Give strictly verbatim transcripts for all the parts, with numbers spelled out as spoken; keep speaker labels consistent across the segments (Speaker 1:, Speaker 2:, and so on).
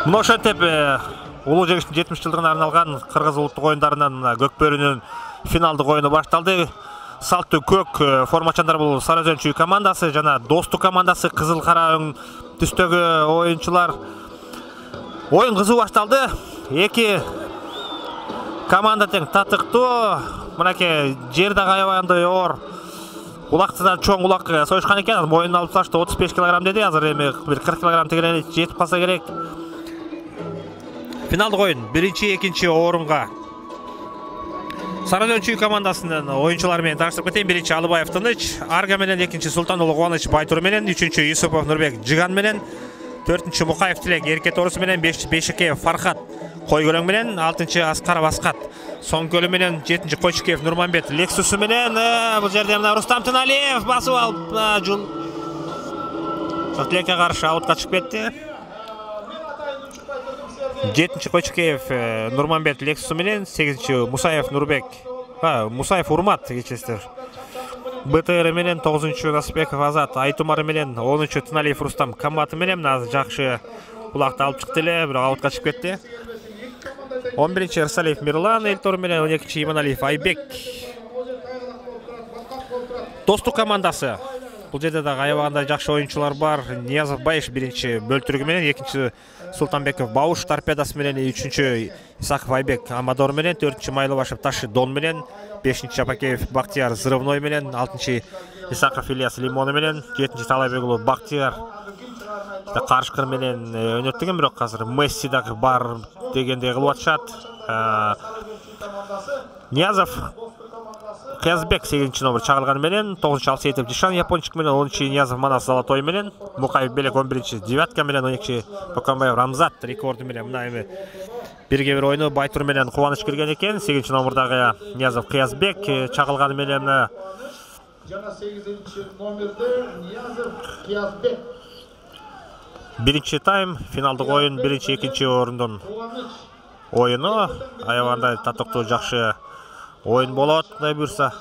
Speaker 1: Мына ошентип улуу жеңиштин жетимиш жылдыгына арналган кыргыз улуттук оюндарынын көкбөрүнүн финалдык оюну башталды. Салттуу көк формачандар бул Сары Өзөн Чүй командасы жана Достук командасы кызыл кара өң түстөгү оюнчулар. Оюн кызуу башталды. Эки команда тең татыктуу. Мынакей жер дагы аябагандай оор. Улакты да чоң улак союшкан экен. Моюнун алып ташты отуз беш килограмм деди. Азыр эми бир кырк килограмм тегене жетип калса керек. Финалдык оюн биринчи, экинчи орунга Сары Өзөн Чүй командасынын оюнчулары менен таныштырып кетейин. Биринчи Алыбаев Тыныч, Арга менен, экинчи Султан уулу Кубаныч Байтур менен, үчүнчү Юсупов Нурбек Жиган менен, төртүнчү Мукаев Тилек Эрке Торусу менен, бешинчи Бешикеев Фархат Койкөлөң менен, алтынчы Аскаров Аскат Соңкөлү менен, жетинчи Койчукеев Нурманбет Лексусу менен, бул жерде мына Рустам Тыналиев басып алып жул Тилекке каршы аутка чыгып кетти. жетинчи Койчукеев Нурманбет Лексусу менен, сегизинчи Мусаев Нурбек, Мусаев Урмат кечесиздер БТР менен, тогузунчу Насипбеков Азат Айтумар менен, онунчу Тыналиев Рустам Камбаты менен азыр жакшы улакты алып чыкты эле, бирок аутка чыгып кетти. он биринчи Ырсалиев Мирлан Элтор менен, он экинчи Иманалиев Айбек. Достук командасы. Бул жерде дагы аябагандай жакшы оюнчулар бар. Ниязов Байыш биринчи бөлтүрүгү менен, экинчи Султанбеков Бауш торпедасы менен, үчүнчү Исаков Айбек Амадор менен, төртүнчү Майлыбашев Ташы Дон менен, бешинчи Жапакеев Бактияр Зырывной менен, алтынчы Исаков Ильяс Лимоны менен, жетинчи Талайбек уулу Бактияр Карышкыр менен өнөттүгөн, бирок азыр Месси дагы бар дегендей кылып атышат. Ниязов Кыязбек сегизинчи номер чагылганы менен, тогузунчу Алсеитов Жишан Япончик менен, онунчу Ниязов Манас Золотой менен, Мукаев Белек он биринчи Девятка менен, он экинчи Покомбаев Рамзат рекорду менен. Мына эми бирге бир ойну Байтур менен Кубаныч кирген экен. сегизинчи номердагы Ниязов Кыязбек чагылганы менен мына жана сегизинчи номерде Ниязов Кыязбек. Биринчи тайм финалдык оюн биринчи, экинчи орундун оюну аябагандай татыктуу жакшы оюн болот, кудай буйрса.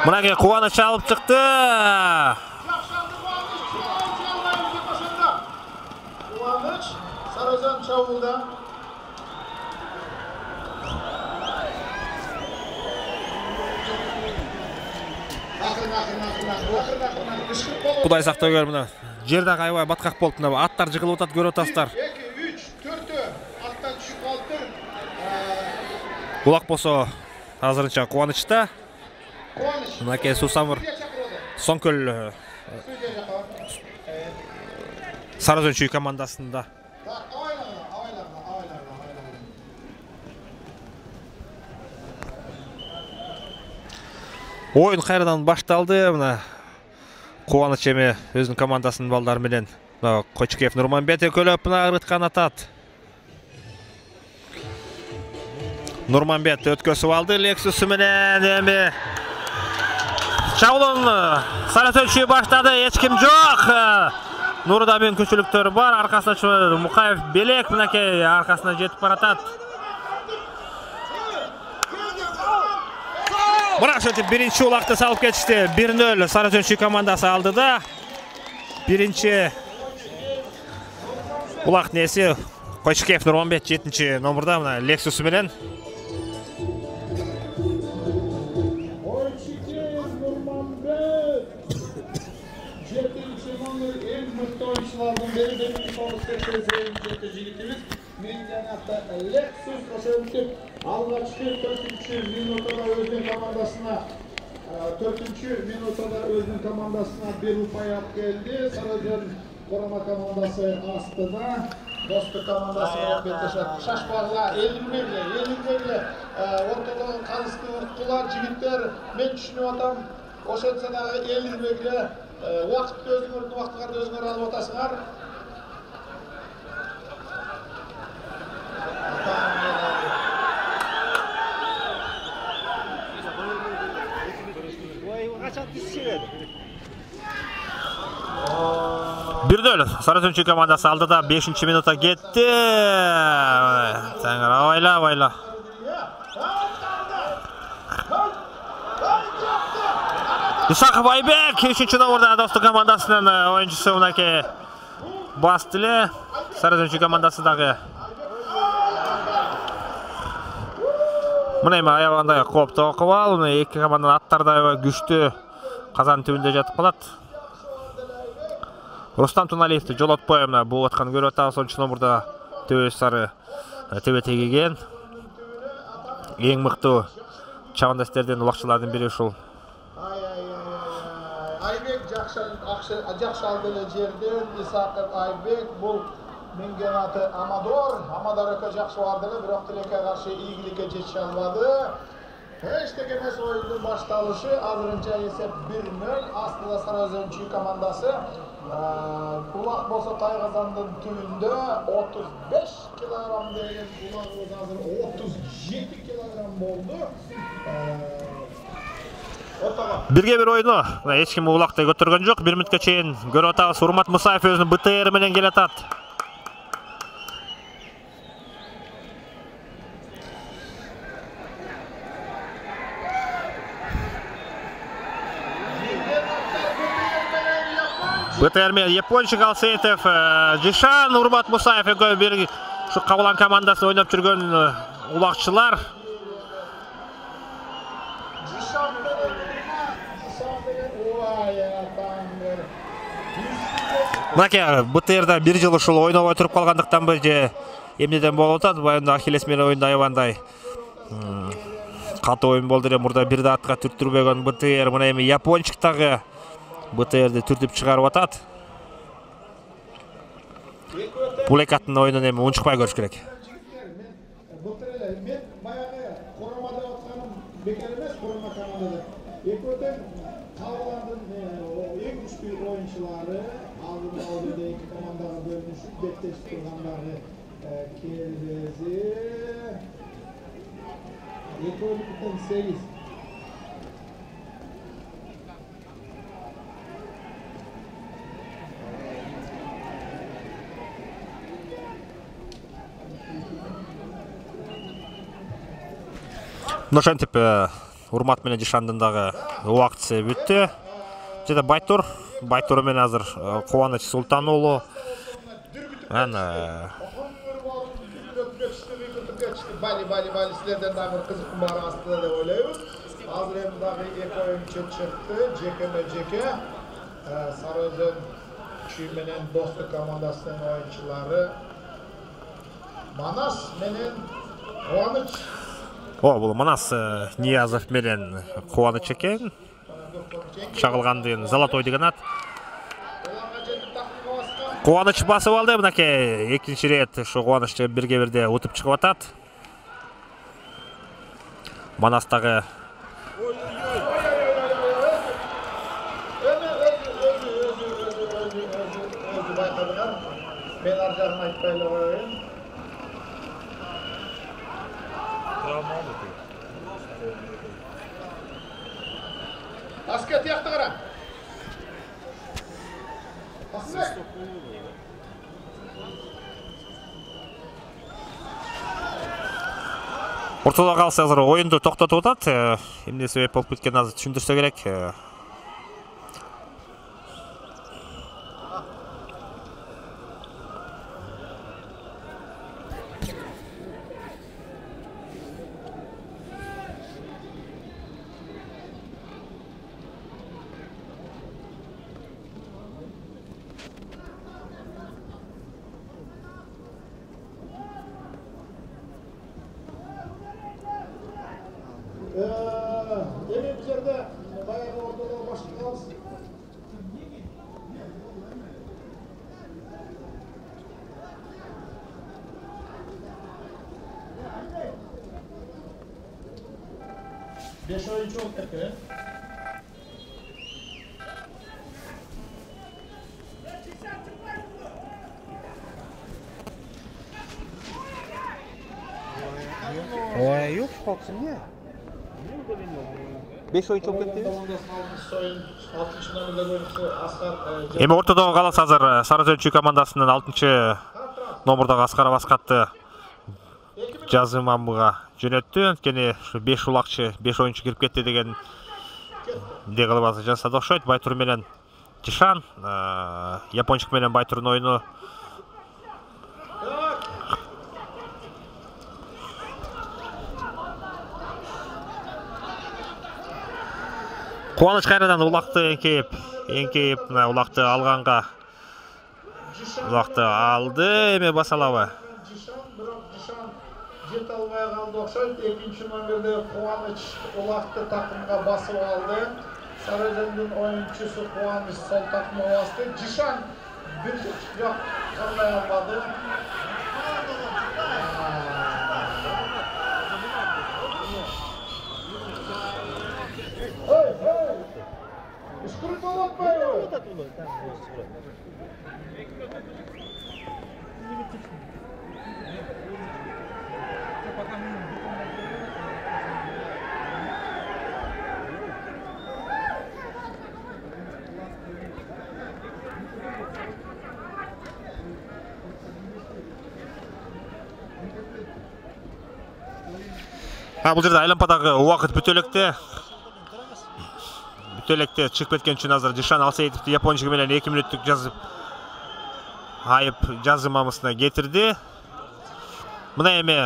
Speaker 1: Мынакей Кубаныч алып чыкты. Кубаныч Сары Өзөн чабууда. Кудай сактабай, мына жер дагы аябай баткак болуп, мына аттар жыгылып атат, көрүп атасыздар. Улак болсо азырынча Кубанычта. Мынакей Сусамыр Соңкөл Сары Өзөн Чүй командасында. Оюн кайрадан башталды. Мына Кубаныч эми өзүнүн командасынын балдары менен Койчукеев Нурманбет экөөлөп мына ырыткан атат. Нурманбет өткөсүп алды Лексусу менен, эми чабуулун Сары Өзөн Чүй баштады, эч ким жок. Нурда мүмкүнчүлүктөр бар. Аркасына Мукаев белек мынакей аркасына жетип баратат. Бирок ошентип биринчи улакты салып кетишти. бир нөл Сары Өзөнчү командасы алды да. Биринчи улактын эси Койчукеев Нурманбет жетинчи номурда мына Lexus менен.
Speaker 2: Алгачкы төртүнчү минутта өзүнүн командасына төртүнчү минутта өзүнүн командасына бир упай алып келди. Сарыөзөн Корома командасы астына Достук командасы менен беттешет. Шашпагыла элилмейле, элилмейле. Ортодон калысты урткулар, жигиттер. Мен түшүнүп атам. Ошентсе дагы элилмейле. Убакытты өзүңөрдүн убактыңарды өзүңөр алып атасыңар.
Speaker 1: бир нөл Сары Өзөнчү командасы алды да бешинчи минутта кетти. Таңыр абайла, абайла. Исаков Айбек үчүнчү номурда Достук командасынын оюнчусу мынакей басты эле. Сары Өзөнчү командасы дагы мына эми аябагандай кооптуу акыбал. Мына эки команданын аттары да аябай күчтүү казан түбүндө жатып калат. Рустам Туналиевди жолотпой мына бул аткан көрүп атабыз. онунчу номурда төбөс сары тебе тегиген. Эң мыктуу чабандастерден убакчылардын бири ушул.
Speaker 2: Айбек жакшы жакшы алды эле жерден. Исаков Айбек бул менген аты Амадор. Амадор эке жакшы барды эле, бирок тилекке каршы ийгиликке жете албады. Эчтеке эмес оюндун башталышы. Азырынча эсеп бир нөл. Астында Сары Өзөнчү командасы. Улак болсо Тайгазандын түбүндө отуз беш килограмм деген улагыбыз азыр отуз жети килограмм болду.
Speaker 1: Бирге бир ойну эч ким улакты көтөргөн жок. бир мүнөткө чейин көрүп атабыз. Урмат Мусаев өзүнүн бэ тэ эр менен келатат. бэ тэ эр менен япончу Алсеитов, Жишан, Урмат Мусаев экөө бир ушу Кабылан командасы ойноп жүргөн улакчылар. Мынакей бэ тэ эрде бир жыл ушул ойнобой туруп калгандыктанбы же эмнеден болуп атат? Баягы Ахиллес менен оюнда аябандай катуу оюн болду эле. Мурда бир да атка түрттүрбөгөн бэ тэ эр мына эми япончуктагы бэ тэ эрди түртүп чыгарып атат. Бул эки аттын оюнун эми унчукпай көрүш керек.
Speaker 2: Мен баягы Коромада атканым бекер эмес, Корома командада. Экөөдөн Кабыландын эң күчтүү оюнчулары алдын ала эки командага бөлүнүшүп беттешип тургандары келбези. Экөөдөн сегиз.
Speaker 1: Ошентип Урмат менен Жишандын дагы убактысы бүттү. Жада Байтур, Байтур менен азыр Кубаныч Султан уулу. Ана
Speaker 2: Бали бали бали силерден дагы бир кызыктын баары астында деп ойлойбуз. Азыр эми дагы эки оюнчу чыкты. Жекеме жеке Сары Өзөнчү менен Достук командасынын оюнчулары Манас менен Кубаныч.
Speaker 1: О, бул Манас Ниязов менен Кубаныч экен. Чагылгандын Золотой деген ат. Кубаныч басып алды мынакей экинчи рет ушу Кубаныч бирге бирде утуп чыгып атат. Манас дагы
Speaker 2: мен ар жагын айтпай эле коеюн. Аска тияқты қара.
Speaker 1: Ортодо калса азыр оюнду токтотуп атат. Эмне себеп болуп кеткенин азыр түшүндүрсө керек.
Speaker 2: Эми бул жерде баягы ортодо башталабыз. Beş oyuncu oldu tekrar.
Speaker 1: Ой, yok kalksın ya. beş oyun çok etti. Эми ортодогу калас азыр Сарызөнчү командасынын алтынчы номурдагы Аскаров Аскатты Жазымамга жөнөттү. Анткени ушу беш улакчы, беш оюнчу кирип кетти деген кылып жасады окшойт. Байтур менен Жишан, япончук менен Байтурдун оюну Кубаныч кайрадан улакты эңкейип, эңкейип улакты алганга улакты алды. Эми басалабы?
Speaker 2: Жишан, бирок Жишан жете албай калды окшойт. Экинчи номерде Кубаныч улакты такымга басып алды. Сарызөндүн оюнчусу Кубаныч сол такымга басты. Жишан бир жок калбай албады. Ишкурик болуп атпайбы?
Speaker 1: Бул жерде айлампадагы убакыт бүтө электе. Бүтө электе чыгып кеткен үчүн азыр Жишан Алсейитовду япончугу менен эки мүнөттүк жазып айып жазымамысына кетирди. Мына эми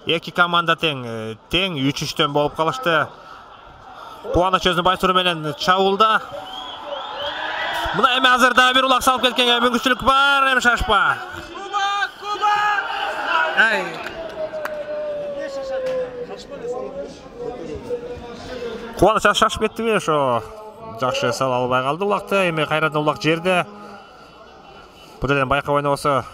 Speaker 1: эки команда тең, тең үч үчтөн болуп калышты. Кубаныч өзүнүн Байтуру менен чабуулда. Мына эми азыр да бир улак салып кеткенге мүмкүнчүлүк бар, эми шашпа. Куба, Куба! Ай. Кубаныч шашып кеттиби, ошо жакшы сала албай калды улакты. Эми кайрадан улак жерде. Бул жерден байкап ойнобосо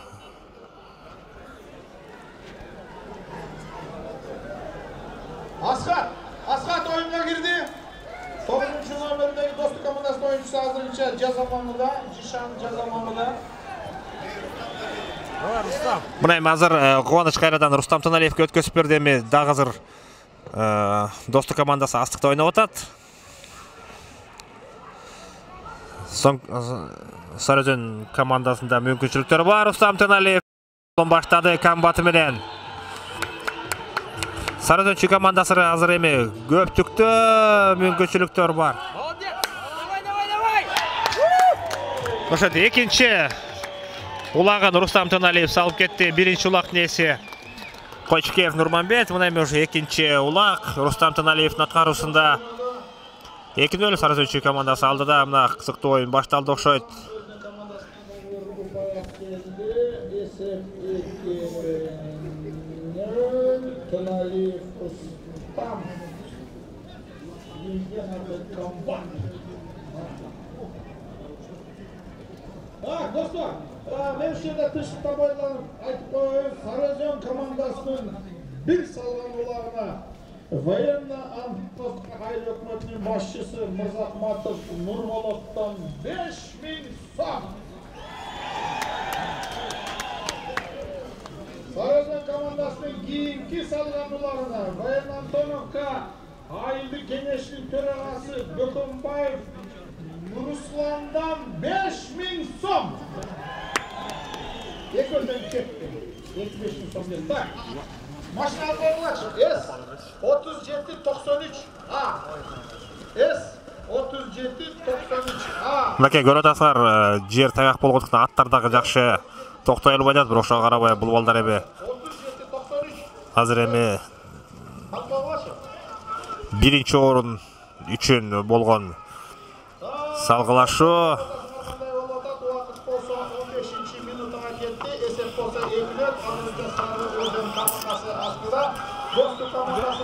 Speaker 2: Аскат, Аскат оюнга кирди. тогузунчу номердеги Достук командасынын оюнчусу азырынча Жазамамыда, Жишан Жазамамыда.
Speaker 1: Мына эми азыр Кубаныч кайрадан Рустам Таналиевге өткөзүп берди. Эми дагы азыр Достук командасы астыкта ойноп атат. Соң Сарызөн командасында мүмкүнчүлүктөр бар. Рустам Таналиев баштады комбаты менен. Сарызөнчү командасы азыр эми көптүктө мүмкүнчүлүктөр бар. Ошол экинчи улагын Рустам Таналиев салып кетти. Биринчи улактын ээси Койчукеев Нурманбет. Мына эми ошо экинчи улак Рустам Таналиевдин аткаруусунда эки нөл Сарызөнчү командасы алдыда. Мына кызыктуу оюн башталды окшойт.
Speaker 2: Достор, мен ушерде тышыкта бойланып айтып коеюн, Сарызөн командасынын бир салган улагына военно-антипостка айыл өкмөтүнүн башчысы Мырзахматов Нурболоттон беш миң сом. Сарызөн командасынын кийинки салган улагына военно-антоновка айылдык кеңешинин төрагасы Бөкөнбаев Nuruslan'dan beş bin som. Ekörden ketdi. yetmiş beş bin som dedi. Tak. Maşina koyulaç. S otuz yedi doksan üç A. S otuz yedi doksan üç A.
Speaker 1: Мынакей көрүп атасыздар, жер таяк болгондуктан аттар дагы жакшы токтой албай жатат, бирок ошого карабай бул балдар эми азыр эми биринчи орун үчүн болгон салгылашуу.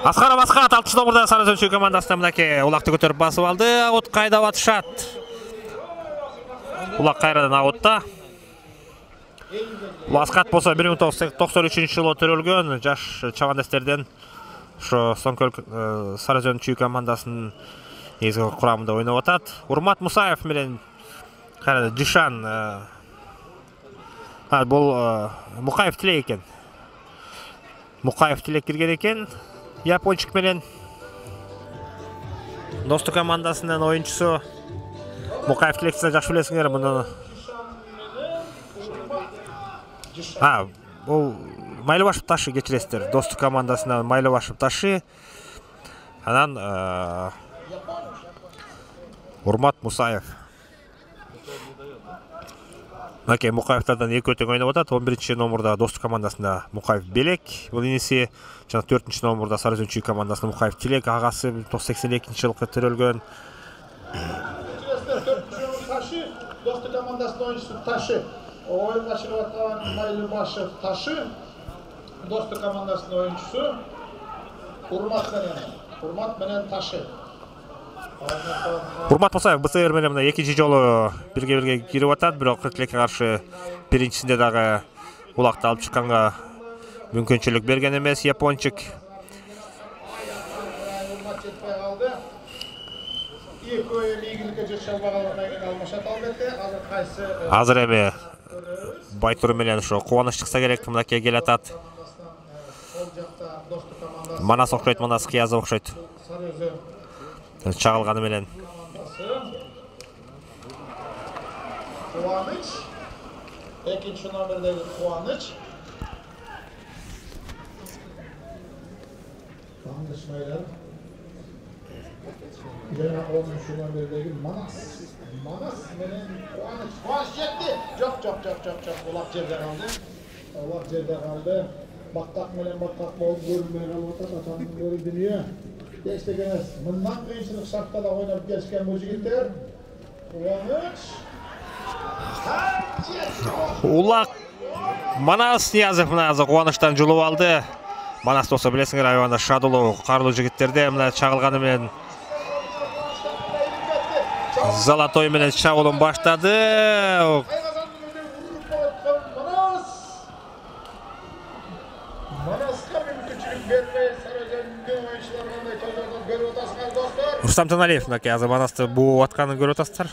Speaker 1: Аскаров Аскат алтынчы номурда Сары Өзөн Чүй командасына мынакей улакты көтөрүп басып алды. Аут кайдап атышат. Улак кайрадан аутта. Аскат болсо бир миң тогуз жүз токсон үчүнчү жылы төрөлгөн жаш чабандастерден ошо Соңкөл Сары Өзөн Чүй командасынын негизги курамында ойноп атат. Урмат Мусаев менен кайрадан Жишан а бул Мукаев Тилек экен. Мукаев Тилек кирген экен. Япончик менен Достук командасынын оюнчусу Мукаев Тилекти жакшы билесиңер, муну. А, бул Майлыбашев Ташы кечиресиздер. Достук командасынан Майлыбашев Ташы. Анан Урмат Мусаев. Мынакей Мукаевтардан эки өтөң ойноп атат. он биринчи номурда Достук командасында Мукаев Белек, бул иниси. Жана төртүнчү номурда Сары Өзөн Чүй командасында Мукаев Тилек, агасы сексен экинчи жылкы төрөлгөн.
Speaker 2: Ташы, Достук командасынын оюнчусу Ташы. Oyunla çıkıp atılan Mайлыбашев Taşı, Dostuk komandasının oyuncusu Urmat menen, Urmat menen Taşı.
Speaker 1: Урмат Мусаев БЦР менен мына экинчи жолу бирге бирге кирип атат, бирок Тилекке каршы биринчисинде дагы улакты алып чыкканга мүмкүнчүлүк берген эмес япончик.
Speaker 2: Урмат жетпей калды. Эки ойун ийгиликке жетише албагандан алмашат албетте. Азыр кайсы
Speaker 1: Азыр эми Байтур менен ошо кубаныч чыкса керек, мынакей келе атат. Манас окшойт, Манас Кыязов окшойт. Чагылганы менен.
Speaker 2: Кубаныч. Экинчи номердеги Кубаныч. Тандышмайлар. Жана онунчу номердеги Манас. Манас менен Кубаныч. Кубаныч жетти. Жок, жок, жок, жок, жок. Улак жерде калды. Улак жерде калды. Бактак менен бактак болуп көрүнбөй калып атат. Атанын көрү дүнүйө. Эчтек эмес. Мындан кыйынчылык шартта да ойноп келишкен бул жигиттер. Кубаныч.
Speaker 1: Улак Манас Ниязов мына азыр кубанычтан жулуп алды. Манас болсо билесиңер, аябында шадылуу, карлуу жигиттерде мына чагылганы менен Золотой менен чабуулун баштады. Рустам Таналиев мынакей азыр Манасты бууп атканын көрүп атасыздар.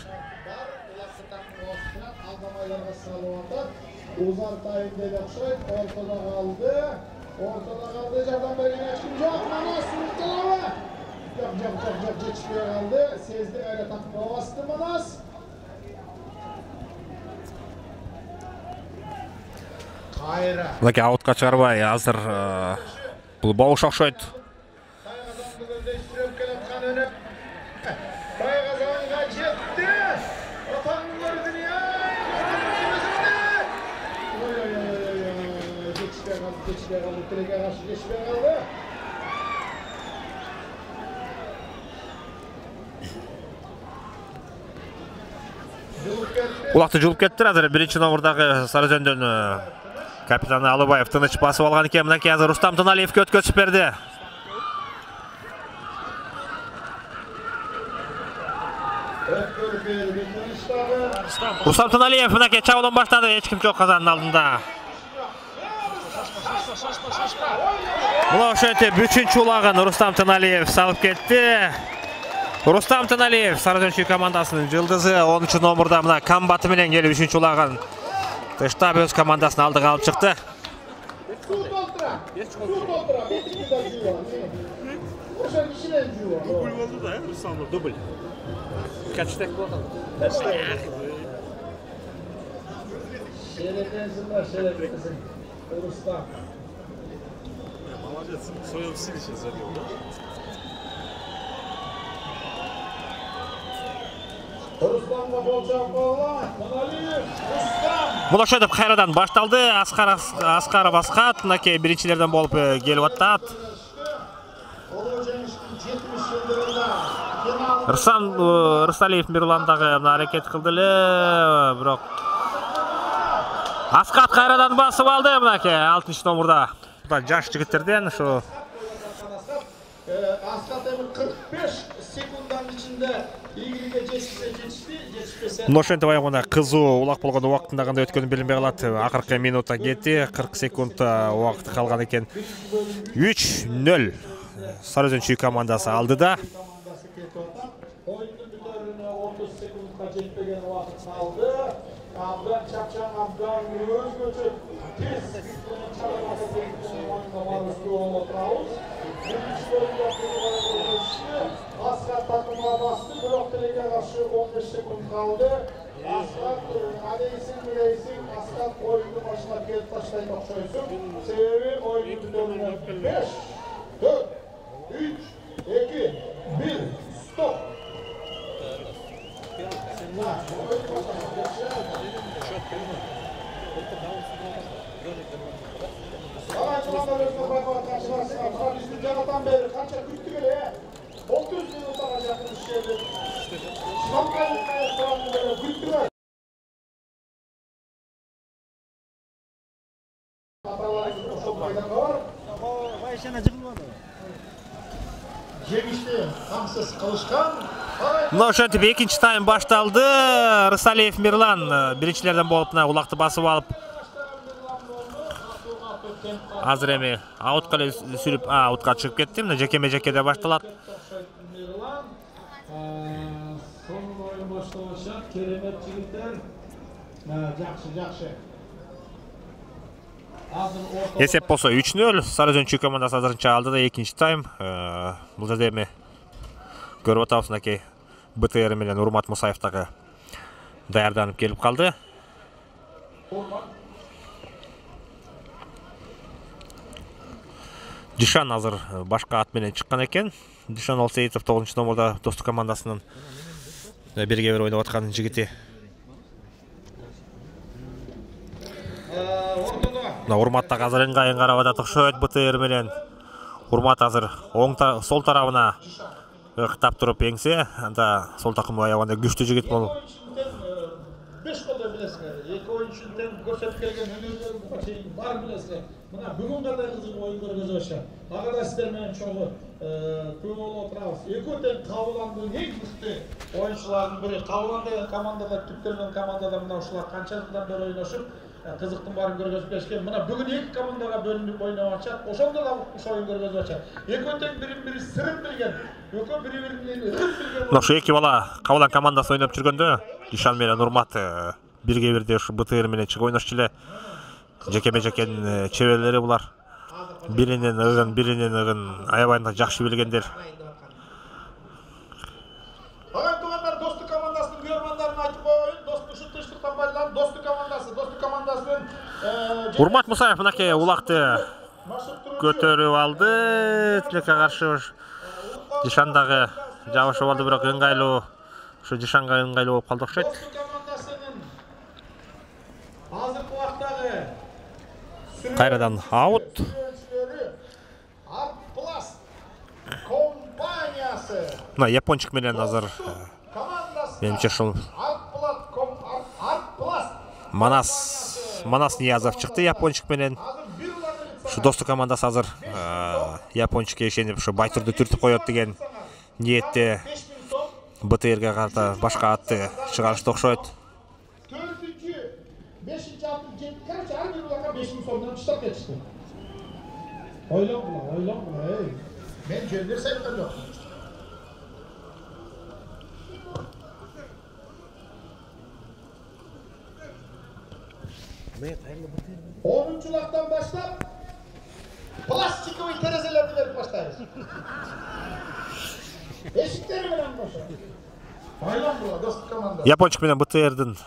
Speaker 2: Узар тайында окшойт, ортодо калды. Ортодо калды, жардам берген эч ким жок. Манас урталабы. Жок, жок, жок, жок, жетишпей калды. Сезди эле такып басты Манас. Кайра.
Speaker 1: Мынакей аутка чыгарбай азыр бул бауш окшойт.
Speaker 2: Тайгазанга жетти. Атаңын көрдүн я. Жетишпей калды, жетишпей калды. Тилекке каршы жетишпей калды.
Speaker 1: Улакты жулуп кеттир. Азыр биринчи номурдагы Сары Өзөндөн капитаны Алыбаев тыныч басып алган экен. Мынакей азыр Рустам Таналиевке өткөзүп берди. Рустам Таналиев мынакей чабуулун баштады, эч ким жок казанын алдында. Мына ошентип үчүнчү улагын Рустам Таналиев салып кетти. Рустам Таналиев Сары Өзөн Чүй командасынын жылдызы онунчу номурда мына камбаты менен келип үчүнчү улагын тыштап өз командасынын алдыга алып чыкты.
Speaker 3: Дубль болду да, Рустам, дубль.
Speaker 1: Kaçtak bo'ldi.
Speaker 2: Şerefensizler, şereflisin. Rustam.
Speaker 3: Молодец, в своем стиле сейчас забил, да?
Speaker 2: Rustam'la bolacak balla. Manaliyev, Rustam.
Speaker 1: Мулаша деп кайрадан башталды. Аскар Аскаров Аскат мынакей биринчилерден болуп келип атат. Рсан Рысалиев Мирландагы мына аракет кылды эле, бирок Аскат кайрадан басып алды мынакей алтынчы номурда. Жаш жигиттерден ушу
Speaker 2: Аскат эми кырк беш секунддун ичинде ийгиликке жетишсе жетишти, жетишпесе.
Speaker 1: Ношентип аягында кызуу улак болгон убактында кандай өткөнү билинбей калат. Акыркы минутта кетти, кырк секунд убакыт калган экен. үч нөл Сарыөзөн Чүй командасы алдыда.
Speaker 2: Oyunun bitirimine otuz sekundga жетпеген убакыт kaldı. Abdan Çapçan Abdan öz göçüp tez çalamasa teknisinin oyunda maruzlu olmatrauz. Birinci bölümde kuruluşu Askat takımına bastı. Blok Tele'ye karşı on beş sekund kaldı. Askat adeysin bileysin. Askat oyunun başına gelip taşlayın okşayısın. Sebebi oyunun bitirimine beş, dört, üç, iki, bir, stop. Bizim Canatan beri kaça küttü bile otuz minuta yakın işledi. Şampiyonluk restoranı böyle küttüler. Жемишти камсыз кылышкан.
Speaker 1: Мына ошентип экинчи тайм башталды. Рысалиев Мирлан биринчилерден болуп мына улакты басып алып азыр эми аутка эле сүрүп, аутка чыгып кетти. Мына жекеме жекеде башталат.
Speaker 2: Мирлан соңку оюн башталышат. Керемет жигиттер. Жакшы, жакшы.
Speaker 1: Эсеп болсо үч нөл. Сарыөзөн Чүй командасы азырынча алдыда экинчи тайм. Бул жерде эми көрүп атабыз мынакей БТР менен Урмат Мусаев дагы даярданып келип калды. Дишан азыр башка ат менен чыккан экен. Дишан Алсейитов тогузунчу номурда Достук командасынын бирге бир ойноп аткан жигити. Урмат дагы азыр ыңгайын карап атат окшойт БТР менен. Урмат азыр оң сол тарабына ыктап туруп эңсе, анда сол такымга аягында күчтүү жигит болуп.
Speaker 2: беш колдо билесиңер. Эки оюнчунун көрсөтүп келген өнөрлөрү чейин бар билесиңер. Мына бүгүн кандай кызык оюн көргөзүп атышат. Ага да сиздер менен чогуу күбө болуп отурабыз. Экөө тең Кабыландын эң мыкты оюнчуларынын бири. Кабылан деген командада түптөлгөн командада мына ушулар канча жылдан бери ойношуп кызыктын баарын көргөзүп беришкен. Мына бүгүн эки командага бөлүнүп ойноп атышат. Ошондо да ушул оюн көргөзүп атышат. Экөө тең бири-бири сырын билген. Экөө бири-биринин ырын билген.
Speaker 1: Мына ушу эки бала Кабылан командасы ойноп жүргөндө Дишан менен Урмат бирге бирде ушу БТР менен чыгып ойношчу эле. Жекеме жекенин чеберлери булар. Биринин ыгын, биринин ыгын аябай жакшы билгендер.
Speaker 2: Ага тугандар, Достук командасынын көрмандарын айтып коеюн. Достук ушу тынчтыктан байланып Достук командасы, Достук командасынын
Speaker 1: Урмат Мусаев мынакей улакты көтөрүп алды. Тилекке каршы Дишан дагы жабышып алды, бирок ыңгайлуу ушу Дишанга ыңгайлуу болуп калды окшойт.
Speaker 2: Достук командасынын азыркы убактагы
Speaker 1: Кайрадан аут.
Speaker 2: Артпласт компаниясы.
Speaker 1: Мына япончук менен азыр менимче ушул
Speaker 2: Артпласт
Speaker 1: Манас Манас Ниязов чыкты япончук менен. Ушу Достук командасы азыр япончукка ишенип ушу Байтурду түртүп коет деген ниетте БТРге карата башка атты чыгарышты окшойт.
Speaker 2: төртүнчү, бешинчи, алтынчы, жетинчи, короче, ар бир улакка беш миң сомдон таштап кетишти. Ойлоп була, ойлоп була, эй. Мен жөндөр сайттар жок. онунчу улактан баштап пластиковый терезелерди берип баштайбыз. Эшиктери менен кошо. Байландыла достук команда.
Speaker 1: Япончук менен БТРдин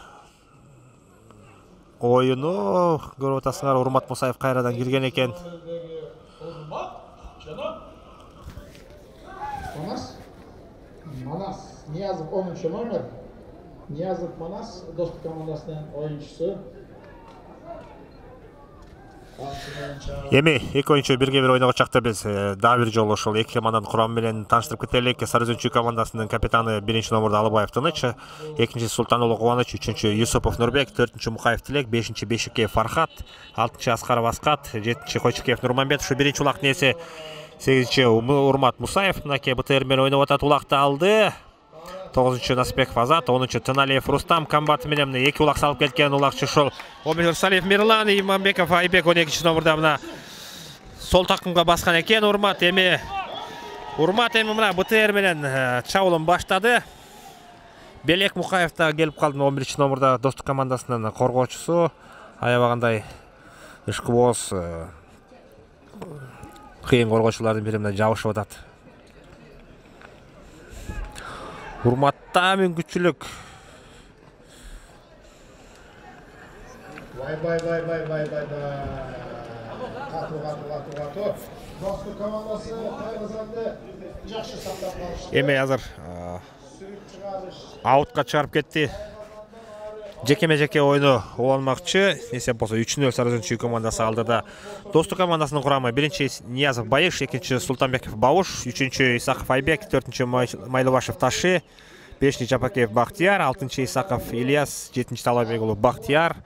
Speaker 1: оюну көрүп атасыңар. Урмат Мусаев кайрадан кирген экен.
Speaker 2: Манас. Манас Ниязов онунчу номер. Ниязов Манас достук командасынын оюнчусу.
Speaker 1: Эми эки оюнчу бирге бир ойногон чакта биз дагы бир жолу ошол эки команданын курамы менен тааныштырып кетелик. Сарызөнчү командасынын капитаны биринчи номерде Алыбаев Тыныч, экинчи Султануулу Кубаныч, үчүнчү Юсупов Нурбек, төртүнчү Мукаев Тилек, бешинчи Бешикеев Фархат, алтынчы Аскаров Аскат, жетинчи Койчукеев Нурманбет. Ушу биринчи улактын ээси сегизинчи Урмат Мусаев мынакей БТР менен ойноп атат. Улакты алды. тогузунчу Насипбеков Азат, онунчу Тыналиев Рустам комбаты менен эки улак салып кеткен. Улакчы ушул Омир Салиев Мирлан, Иманбеков Айбек он экинчи номерде мына сол такымга баскан экен. Урмат эми Урмат эми мына БТР менен чабуулун баштады. Белек Мукаев да келип калды он биринчи номерде достук командасынын коргоочусу. Аябагандай ишкыбоз кыйын коргоочулардын бири менен жабышып атат. Урматта мүмкүнчүлүк.
Speaker 2: Бай бай бай бай бай бай бай. Катуу катуу катуу катуу. Достук командасы Кайгазанды жакшы сактап калышты.
Speaker 1: Эми азыр аутка чыгарып кетти. Жекеме-жеке ойну уланмакчы. Эсеп болсо үч нөл Сарызөнчү командасы алдыда. Достук командасынын курамы биринчи Ниязов Байыш, экинчи Султанбеков Бауш, үчүнчү Исаков Айбек, төртүнчү Майлыбашев Таши, бешинчи Жапакеев Бактияр, алтынчы Исаков Ильяс, жетинчи Талабек уулу Бактияр,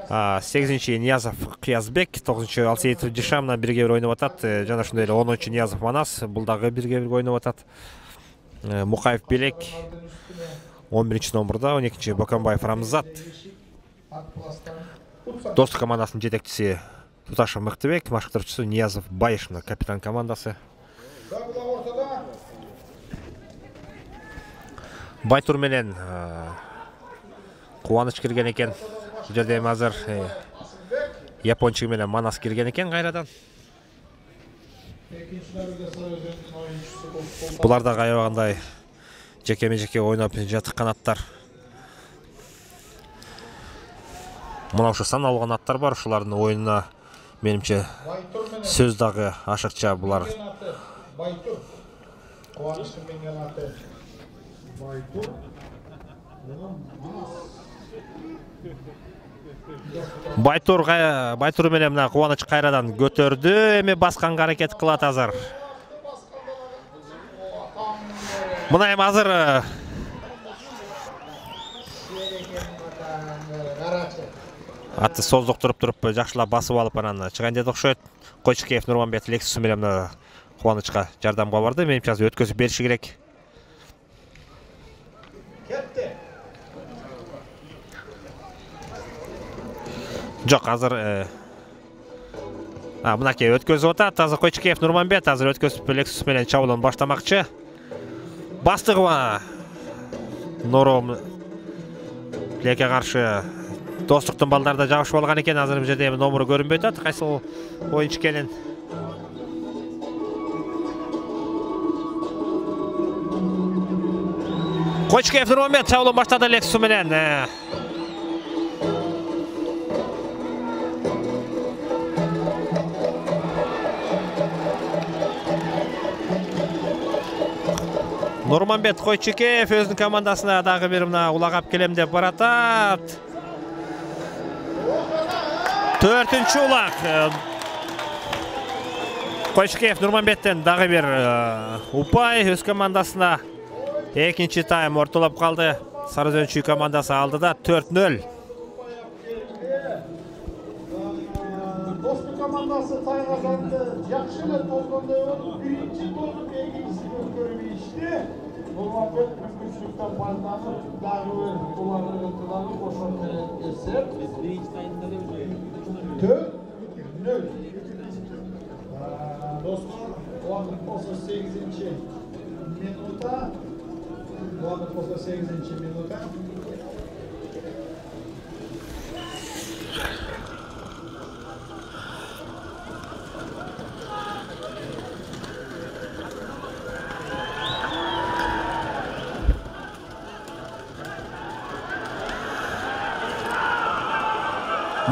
Speaker 1: сегизинчи Ниязов Кыязбек, тогузунчу Алсеитов Жишам менен бирге бир ойноп атат. Жана ошондой эле онунчу Ниязов Манас, бул дагы бирге бир ойноп атат. Мукаев Белек он биринчи номерде, он экинчи Бокомбаев Рамзат. Достук командасынын жетекчиси Туташев Мыктыбек, башкарчысы Ниязов Байыш, капитан командасы. Байтур менен Кубаныч кирген экен. Бул жерде эми азыр Япончук менен Манас кирген экен кайрадан. Булар да аябагандай жекеме-жеке ойноп жаткан канаттар. Мына ушу саналган аттар бар, ушулардын оюнуна менимче сөз дагы ашыкча булар.
Speaker 2: Байтур. Кубанычтын менген аты Байтур.
Speaker 1: Байтур Байтур менен мына Кубаныч кайрадан көтөрдү, эми басканга аракет кылат азыр. Мына эми азыр атты создуктуруп туруп жакшылап басып алып анан чыгайын деди окшойт. Койчукеев Нурманбет Лексусу менен Кубанычка жардамга барды. Менимче азыр өткөзүп бериши керек.
Speaker 2: Кетти.
Speaker 1: Жок, азыр а мынакей өткөзүп атат. Азыр Койчукеев Нурманбет азыр өткөзүп Лексус менен чабуулун баштамакчы. Бастыгыма Нором Леке каршы достуктун балдары да жабышып алган экен. Азыр бул жерде номеру көрүнбөй атат. Кайсы оюнчу экенин. Койчукеев Нурманбет чабуулун баштады Лексус менен. Нурманбет Койчукеев өзүнүн командасына дагы бир мына улагап келем деп баратат. Төртүнчү улак. Койчукеев Нурманбеттен дагы бир упай өз командасына. Экинчи тайм ортолоп калды. Сарызөнчү командасы алдыда төрт нөл.
Speaker 2: Достук командасы Кайгазанды жакшы эле тозгондой болуп, биринчи тозуп экинчисин өткөрүп Нурманбет мүмкүнчүлүктөн пайдаланып, дагы бир буларды ытыланып, ошол менен эсеп төрт нөл. Достор, убакыт болсо сегизинчи минутта. Убакыт болсо сегизинчи минутта.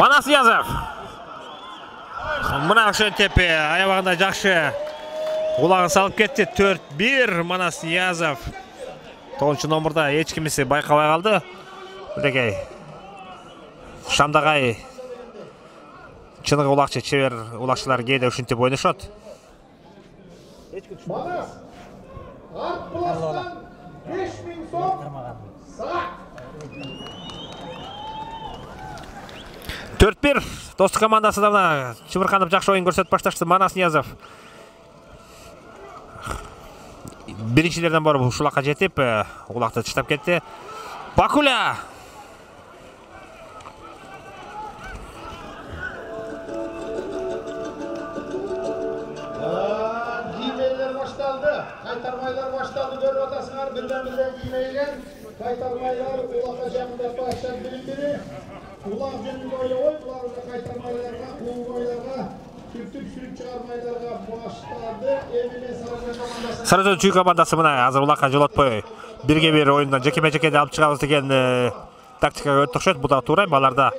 Speaker 1: Манас Ниязов. Мына ошентип аябагында жакшы улагын салып кетти. төрт бир Манас Ниязов. тогузунчу номерда эч кимиси байкабай калды. Мынакей Шамдагай чыныгы улакчы чебер улакчылар кээде ушинтип ойношот.
Speaker 2: Манас арт пластан беш миң сом.
Speaker 1: төрт бир Достук командасы да мына чымырканып жакшы оюн көрсөтүп башташты. Манас Ниязов биринчилерден барып ушулакка жетип, улакты таштап кетти. Бакуля
Speaker 2: Киймейлер башталды. Кайтармайлар башталды. Көрүп атасыңар, бирден-бирден киймейлер. Кайтармайлар улакка жакындап баштап бири-бири. Улак жөнүндө ойлобой, буларды кайтармайларга, куулгойларга, сүртүп сүрүп чыгармайларга баштады. Эмне Сарыөзөн командасы.
Speaker 1: Сарыөзөн чүй командасы мына азыр улакка жолотпой бирге бир оюндан жекеме-жекеде алып чыгабыз деген тактикага өтүп окшойт. Бу да туура. Аларда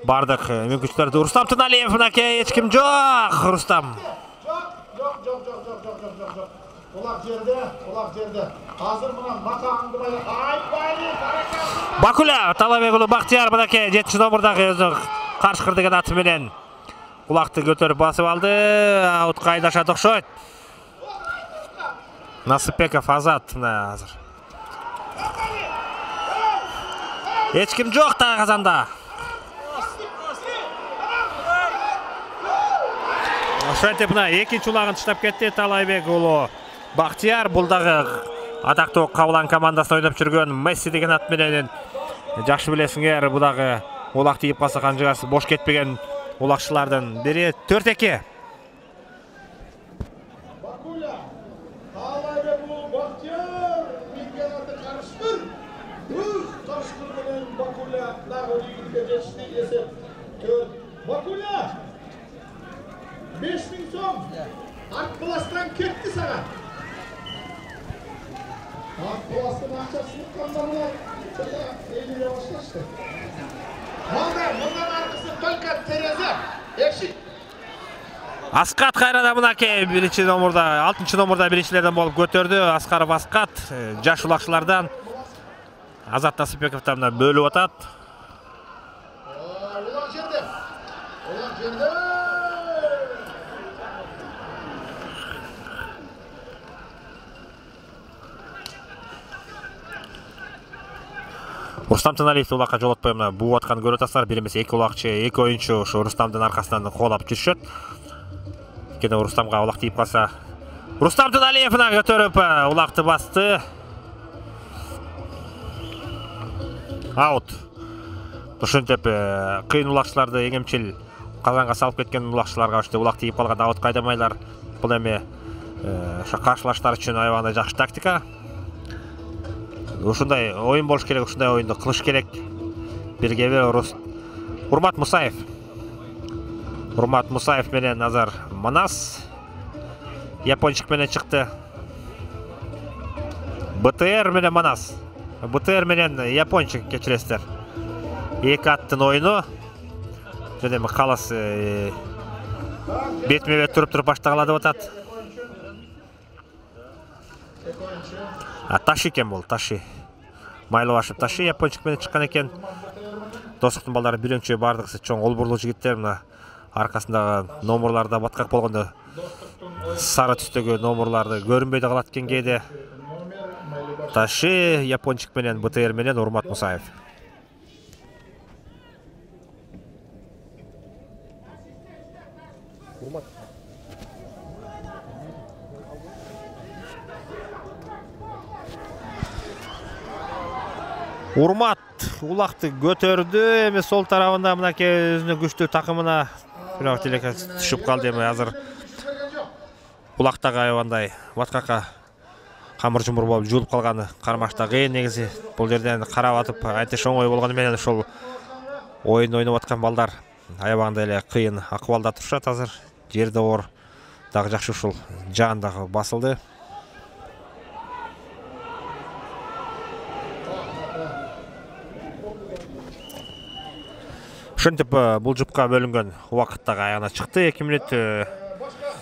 Speaker 1: бардык мүмкүнчүлүктөр. Рустам Туналиев мынакей эч ким жок. Рустам.
Speaker 2: Жок, жок, жок, жок, жок, жок, жок, жок. Улак жерде, улак жерде. Азыр мына макаңды бай. Айбайли, баракалды.
Speaker 1: Бакуля Талабек уулу Бактияр мынакей жетинчи номердагы өзү Каршкыр деген аты менен улакты көтөрүп басып алды. Аутка айдашат окшойт. Насыпбеков Азат мына азыр. Эч ким жок да казанда. Ошентип мына экинчи улагын таштап кетти Талайбек уулу Бактияр. Бул дагы атактуу Кабылан командасында ойноп жүргөн Месси деген ат менен жакшы билесиңер. Бу дагы улак тийип калса канжыгасы бош кетпеген улакчылардын бири. төрт эки
Speaker 2: Бакуля Талайбек уулу Бактияр минген аты Каршкыр. Өз Каршкыр менен Бакуля дагы ийгиликке жетишти. Эсеп төрт. Бакуля беш миң сом. Арт пластан кетти сага. Арт пластын акчасын кандамына элине башташты. Мында, мындан аркысы только терезе, эшик.
Speaker 1: Аскат кайрада мынакей биринчи номерда, алтынчы номерда биринчилерден болуп көтөрдү. Аскаров Аскат жаш улакчылардан. Азат Насыпбековдон мына бөлүп атат.
Speaker 2: Улак жерде. Улак жерде.
Speaker 1: Рустам Туналиев улакка жолотпой мына буу аткан көрүп атасыздар. Бир эмес эки улакчы, эки оюнчу ушу Рустамдын аркасынан коолап жүрүшөт. Кene Рустамга улак тийип калса, Рустам Туналиев мына көтөрүп улакты басты. Аут. Ошентип кыйын улакчыларды эңемчил казанга салып кеткен улакчыларга ошто улак тийип калган аут кайдамайлар. Бул эми ошо каршылаштар үчүн аябагында жакшы тактика. Ушундай оюн болуш керек, ушундай оюнду кылыш керек. Бирге бир Урмат Мусаев. Урмат Мусаев менен азыр Манас япончук менен чыкты. БТР менен Манас. БТР менен япончук кечиресиздер. Эки аттын оюну. Жана эми калыс бетме-бет туруп-туруп баштагыла деп атат. А Таши экен бул, Таши. Майлы башып Таши япончук менен чыккан экен. Достуктун балдары биринчи бардыгысы чоң олбурлуу жигиттер мына аркасындагы номерларда баткак болгондо сары түстөгү номерларды көрүнбөй да калат экен кээде. Таши япончук менен БТР менен Урмат Мусаев. Урмат Урмат улакты көтөрдү. Эми сол тарабында мынакей өзүнүн күчтүү такымына бирок телеке түшүп калды. Эми азыр улактагы аябандай баткакка камыр жумур болуп жуулуп калганы кармашта кыйын негизи. Бул жерден карап атып антиш оңой болгону менен ошол оюн ойноп аткан балдар аябагында эле кыйын акыбалда турушат азыр. Жерде оор дагы жакшы ушул жаан дагы басылды. Ошентип бул жупка бөлүнгөн убакыттагы аягына чыкты. эки мүнөт
Speaker 2: Башка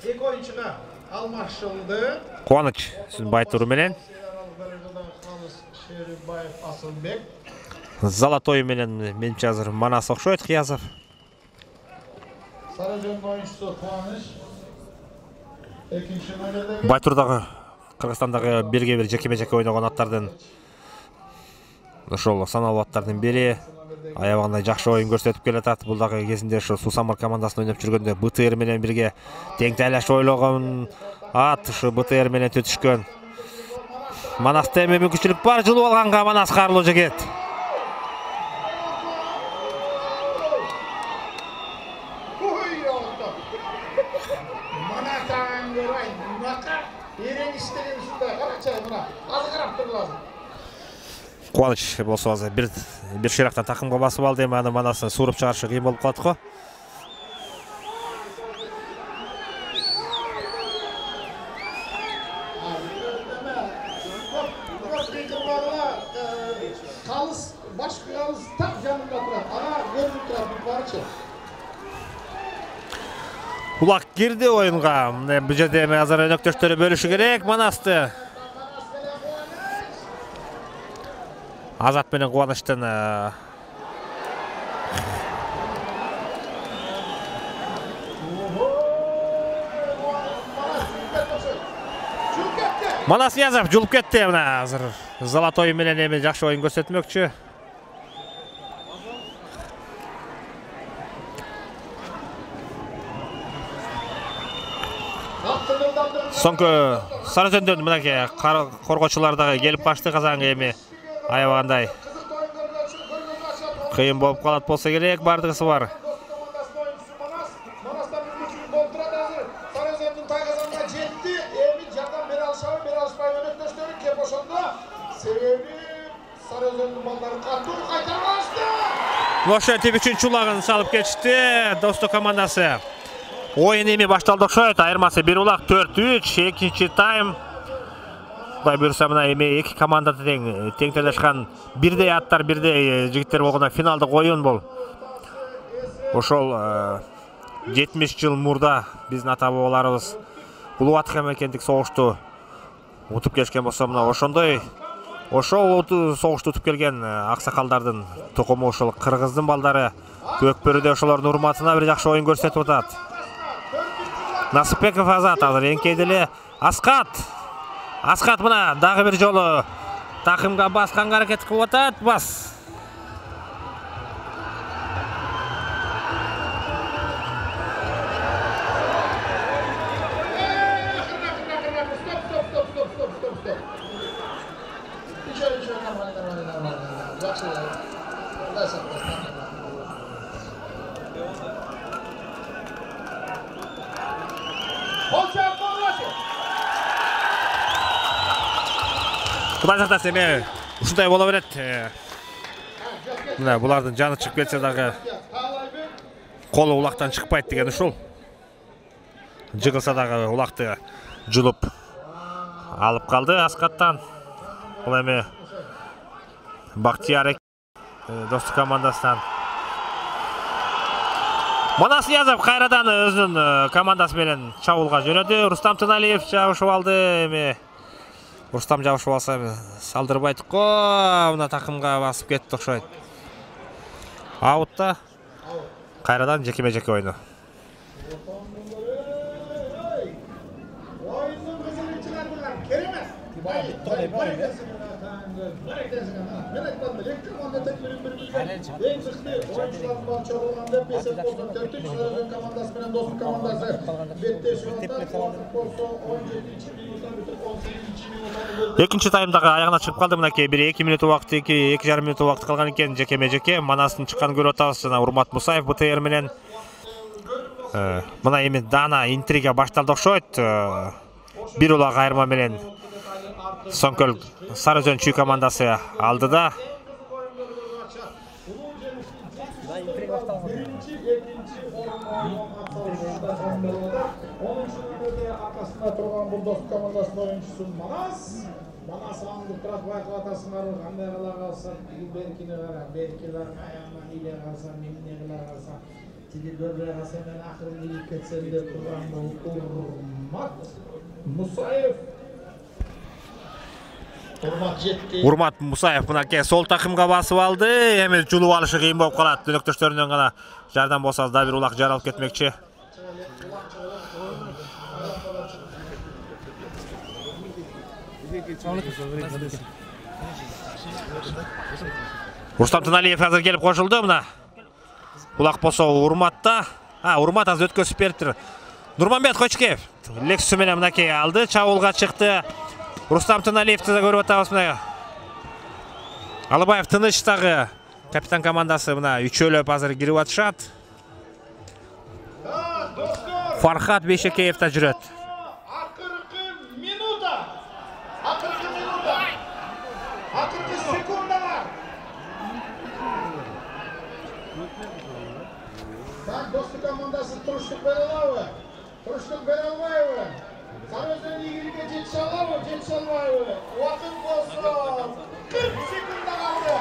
Speaker 2: эки оюнчуга алмашылды.
Speaker 1: Кубаныч сиздин Байтур менен
Speaker 2: Шерибаев Асылбек.
Speaker 1: Золотой менен менимче азыр Манас окшойт, Кыязов.
Speaker 2: Сарыжөндүн оюнчусу Кубаныч. Экинчи номердеги
Speaker 1: Байтур дагы Кыргызстандагы бирге бир жекеме-жеке ойногон аттардын ошол саналуу аттардын бири. Аябагандай жакшы оюн көрсөтүп келатат. Бул дагы кезинде ошо Сусамыр командасын ойноп жүргөндө БТР менен бирге тең тайлаш ойлогон ат ушу БТР менен төтүшкөн. Манаста эми мүмкүнчүлүк бар, жылып алганга Манас карлуу жигит. Кубаныч болсо азыр бир бир ширактан такымга басып алды, эми аны Манасын сууруп чыгарышы кыйын болуп калат го.
Speaker 2: Калыс, башкы калыс так жанында турат. Ага көрүнүп турат бул барчы.
Speaker 1: Улак кирди оюнга. Мына бул жерде эми азыр өнөктөштөрү бөлүшү керек Манасты. Азат менен Кубанычтын Манас Ниязов жулуп кетти. Мына азыр Золотой менен эми жакшы оюн көрсөтмөкчү. Соңку Сарыжөндөн мынакей коргоочулар дагы келип башты Казанга, эми аябагандай кыйын болуп калат болсо керек, бардыгысы бар.
Speaker 2: Сарыжөндүн тайгазанга жетти. Эми жардам бере алышабы, бере алышпай өнөктөштөрү кеп ошондо. Себеби Сарыжөндүн балдары катуу кайтарып алышты.
Speaker 1: Ошентип үчүнчү улагын салып кетишти Достук командасы. Оюн эми башталды окшойт. Айырмасы бир улак төрт үч, экинчи тайм. Кудай буйруса мына эми эки команда тең тең талашкан бирдей аттар, бирдей жигиттер болгондо финалдык оюн бул. Ошол жетимиш жыл мурда биздин ата бабаларыбыз Улуатка мекендик согушту утуп келишкен болсо, мына ошондой ошол согушту утуп келген аксакалдардын тукуму ошол кыргыздын балдары Көкбөрүдө ошолордун урматына бир жакшы оюн көрсөтүп атат. Насыпбеков Азат азыр эңкейди эле. Аскат Аскат мына дагы бир жолу такымга басканга аракет кылып атат. Бас. Кудай сактасын, эми ушундай боло берет. Мына булардын жаны чыгып кетсе дагы колу улактан чыкпайт деген ушул. Жыгылса дагы улакты жулуп алып калды Аскаттан. Бул эми Бактияр Достук командасынан. Манас Ниязов кайрадан өзүнүн командасы менен чабуулга жөнөдү. Рустам Тыналиев жабышып алды. Эми Рустам жабышып алса салдырбайт го. Мына такымга басып кетти окшойт. Аутта. Кайрадан жекеме-жеке ойну. Экинчи таймдагы аягына чыгып калды. Мынакей бир эки мүнөт убакыт, эки жарым мүнөт убакыт калган экен. Жекеме-жеке Манастын чыкканын көрүп атабыз. Жана Урмат Мусаев БТР менен. Мына эми Дана интрига башталды окшойт. Бир улак айырма менен Соңкөл Сарыжөн чүй командасы алдыда.
Speaker 2: аркасында турган бул дос командасынын оюнчусу Манас. Манас аңды турат байкап атасыңар, кандай кыла калса, беркине кара, беркилер аягынан иле калса, меңне кыла калса, тиги көрбөй калса мен акырын илип кетсем деп турган бул Урмат Мусаев. Урмат жетти.
Speaker 1: Урмат Мусаев мынакей сол такымга басып алды. Эми жулуп алышы кыйын болуп калат. Өнөктөштөрүнөн гана жардам болсо да бир улак жаралып кетмекчи. Рустам Тыналиев азыр келип кошулду мына. Улак болсо Урматта. А, Урмат азыр өткөзүп бериптир. Нурманбет Кочкеев лексусу менен мынакей алды, чабуулга чыкты. Рустам Тыналиевти да көрүп атабыз мына. Алыбаев тыныч дагы капитан командасы мына үчөөлөп азыр кирип атышат. Фархат Бейшекеев да жүрөт.
Speaker 2: Акыркы минута. Акыркы минута. Акыркы секундалар. Так, достук командасы туруштук бере алабы? Туруштук бере албайбы? Сарыөзөн ийгиликке жетише алабы, жетише албайбы? Убакыт болсо кырк секунд калды.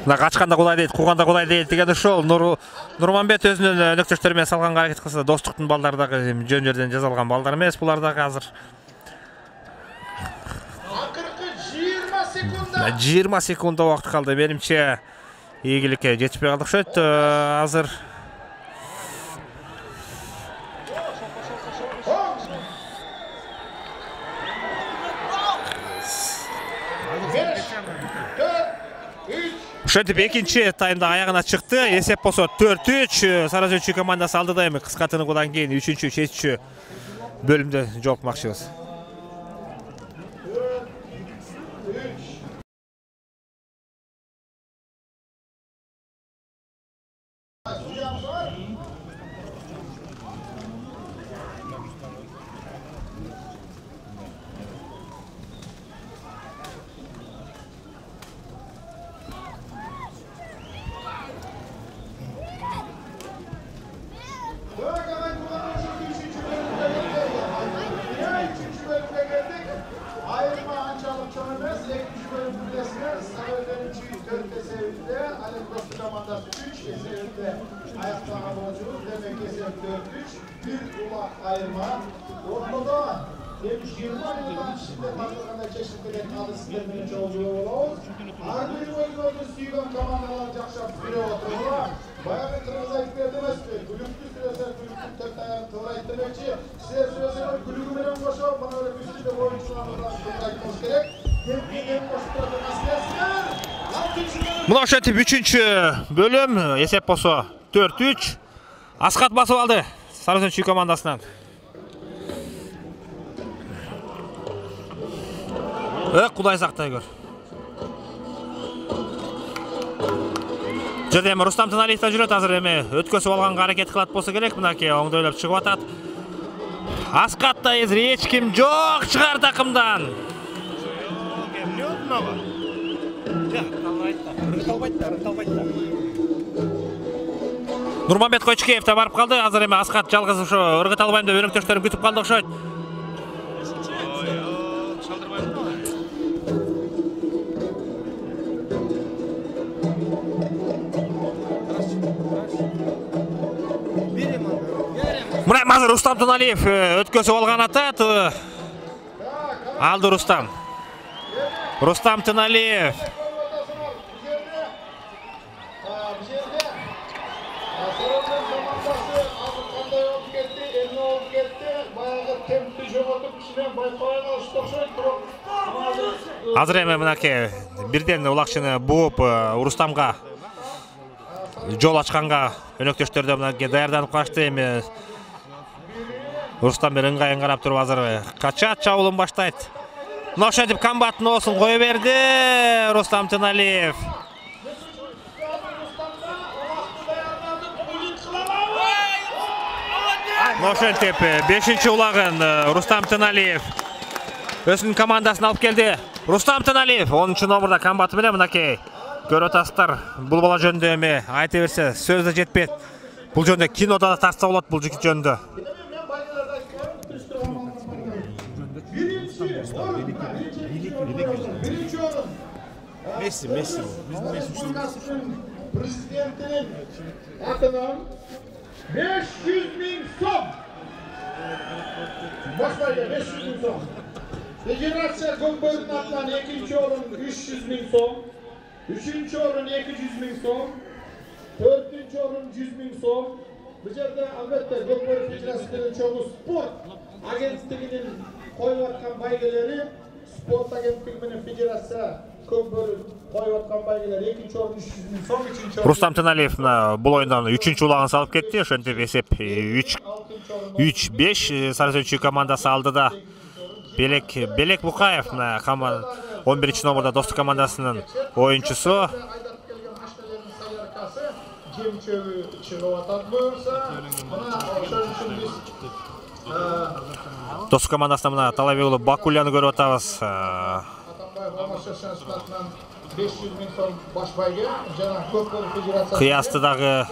Speaker 1: Мына качканда кудай дейт, кууганда кудай дейт деген ошол. Нурманбет өзүнүн өнөктөштөрү менен салган аракет кылса, достуктун балдары дагы жөн жерден жазалган балдар эмес, булар дагы азыр.
Speaker 2: Акыркы жыйырма секунда.
Speaker 1: жыйырма секунда убакыт калды. Менимче ийгиликке жетишпей калдык окшойт азыр. Ошентип экинчи таймда аягына чыкты. Эсеп болсо төрт үч. Сарыөзөн командасы алдыда эми кыска тыныгуудан кийин үчүнчү, чечүүчү бөлүмдө жолукмакчыбыз. Мына ошентип үчүнчү бөлүм эсеп болсо төрт үч. Аскат басып алды Сарыөзөн командасынан. Э, кудай сактай көр. Жерде эми Рустам Тыналиев да жүрөт азыр эми өткөзүп алганга аракет кылат болсо керек. Мынакей оңдойлоп чыгып атат. Аскатта эзир эч ким жок чыгар такымдан. Нурманбет Кочкеев да барып калды. Азыр эми Аскат жалгыз ошо ыргыт албайм деп өнөктөштөрүн күтүп калды окшойт. Мына азыр Рустам Тыналиев өткөзүп алган атат. Алды Рустам. Рустам Тыналиев. Азыр эми мынакей бирден улакчыны бууп Рустамга жол ачканга өнөктөштөр да мынакей даярданып калышты. Эми Рустам бир ыңгайын карап туруп азыр качат, чабуулун баштайт. Мына ошентип комбаттын оосун кое берди Рустам Тыналиев. Мына ошентип бешинчи улагын Рустам Тыналиев өзүнүн командасына алып келди. Рустам Тыналиев онунчу номурда комбаты менен мынакей көрүп атасыздар. Бул бала жөнүндө эми айта берсе сөз да жетпейт. Бул жөнүндө кинода да тарса болот бул жигит жөнүндө.
Speaker 3: Месси, Месси.
Speaker 2: Президентinin атынан beş yüz bin сом. Başlaydı beş yüz bin сом. Federatsiya Көкбөрдүн атынан экинчи орун үч жүз миң сом. Üçüncü orun iki yüz bin сом. Dördüncü orun yüz bin сом. Bu жерде albatta Көкбөрдүн Federatsiyasынын чогуу спорт агенттигинин коюп аткан байгелери, спорт агенттиги менен Federatsiya Көкбөрдүн коюп аткан байгелер экинчи орун үч жүз миң сом, үчүнчү орун
Speaker 1: Рустам Тыналиев бул оюндан үчүнчү улагын салып кетти. Ошентип эсеп үч беш Сарыөзүнчү командасы алдыда. Белек Белек Букаев он биринчи номерда Достук командасынын оюнчусу. Достук командасынан мына Талабек уулу Бакулияны көрүп атабыз.
Speaker 2: beş yüz bin сом баш байге жана Көкбөрдүн Федерациясы
Speaker 1: кыястыдагы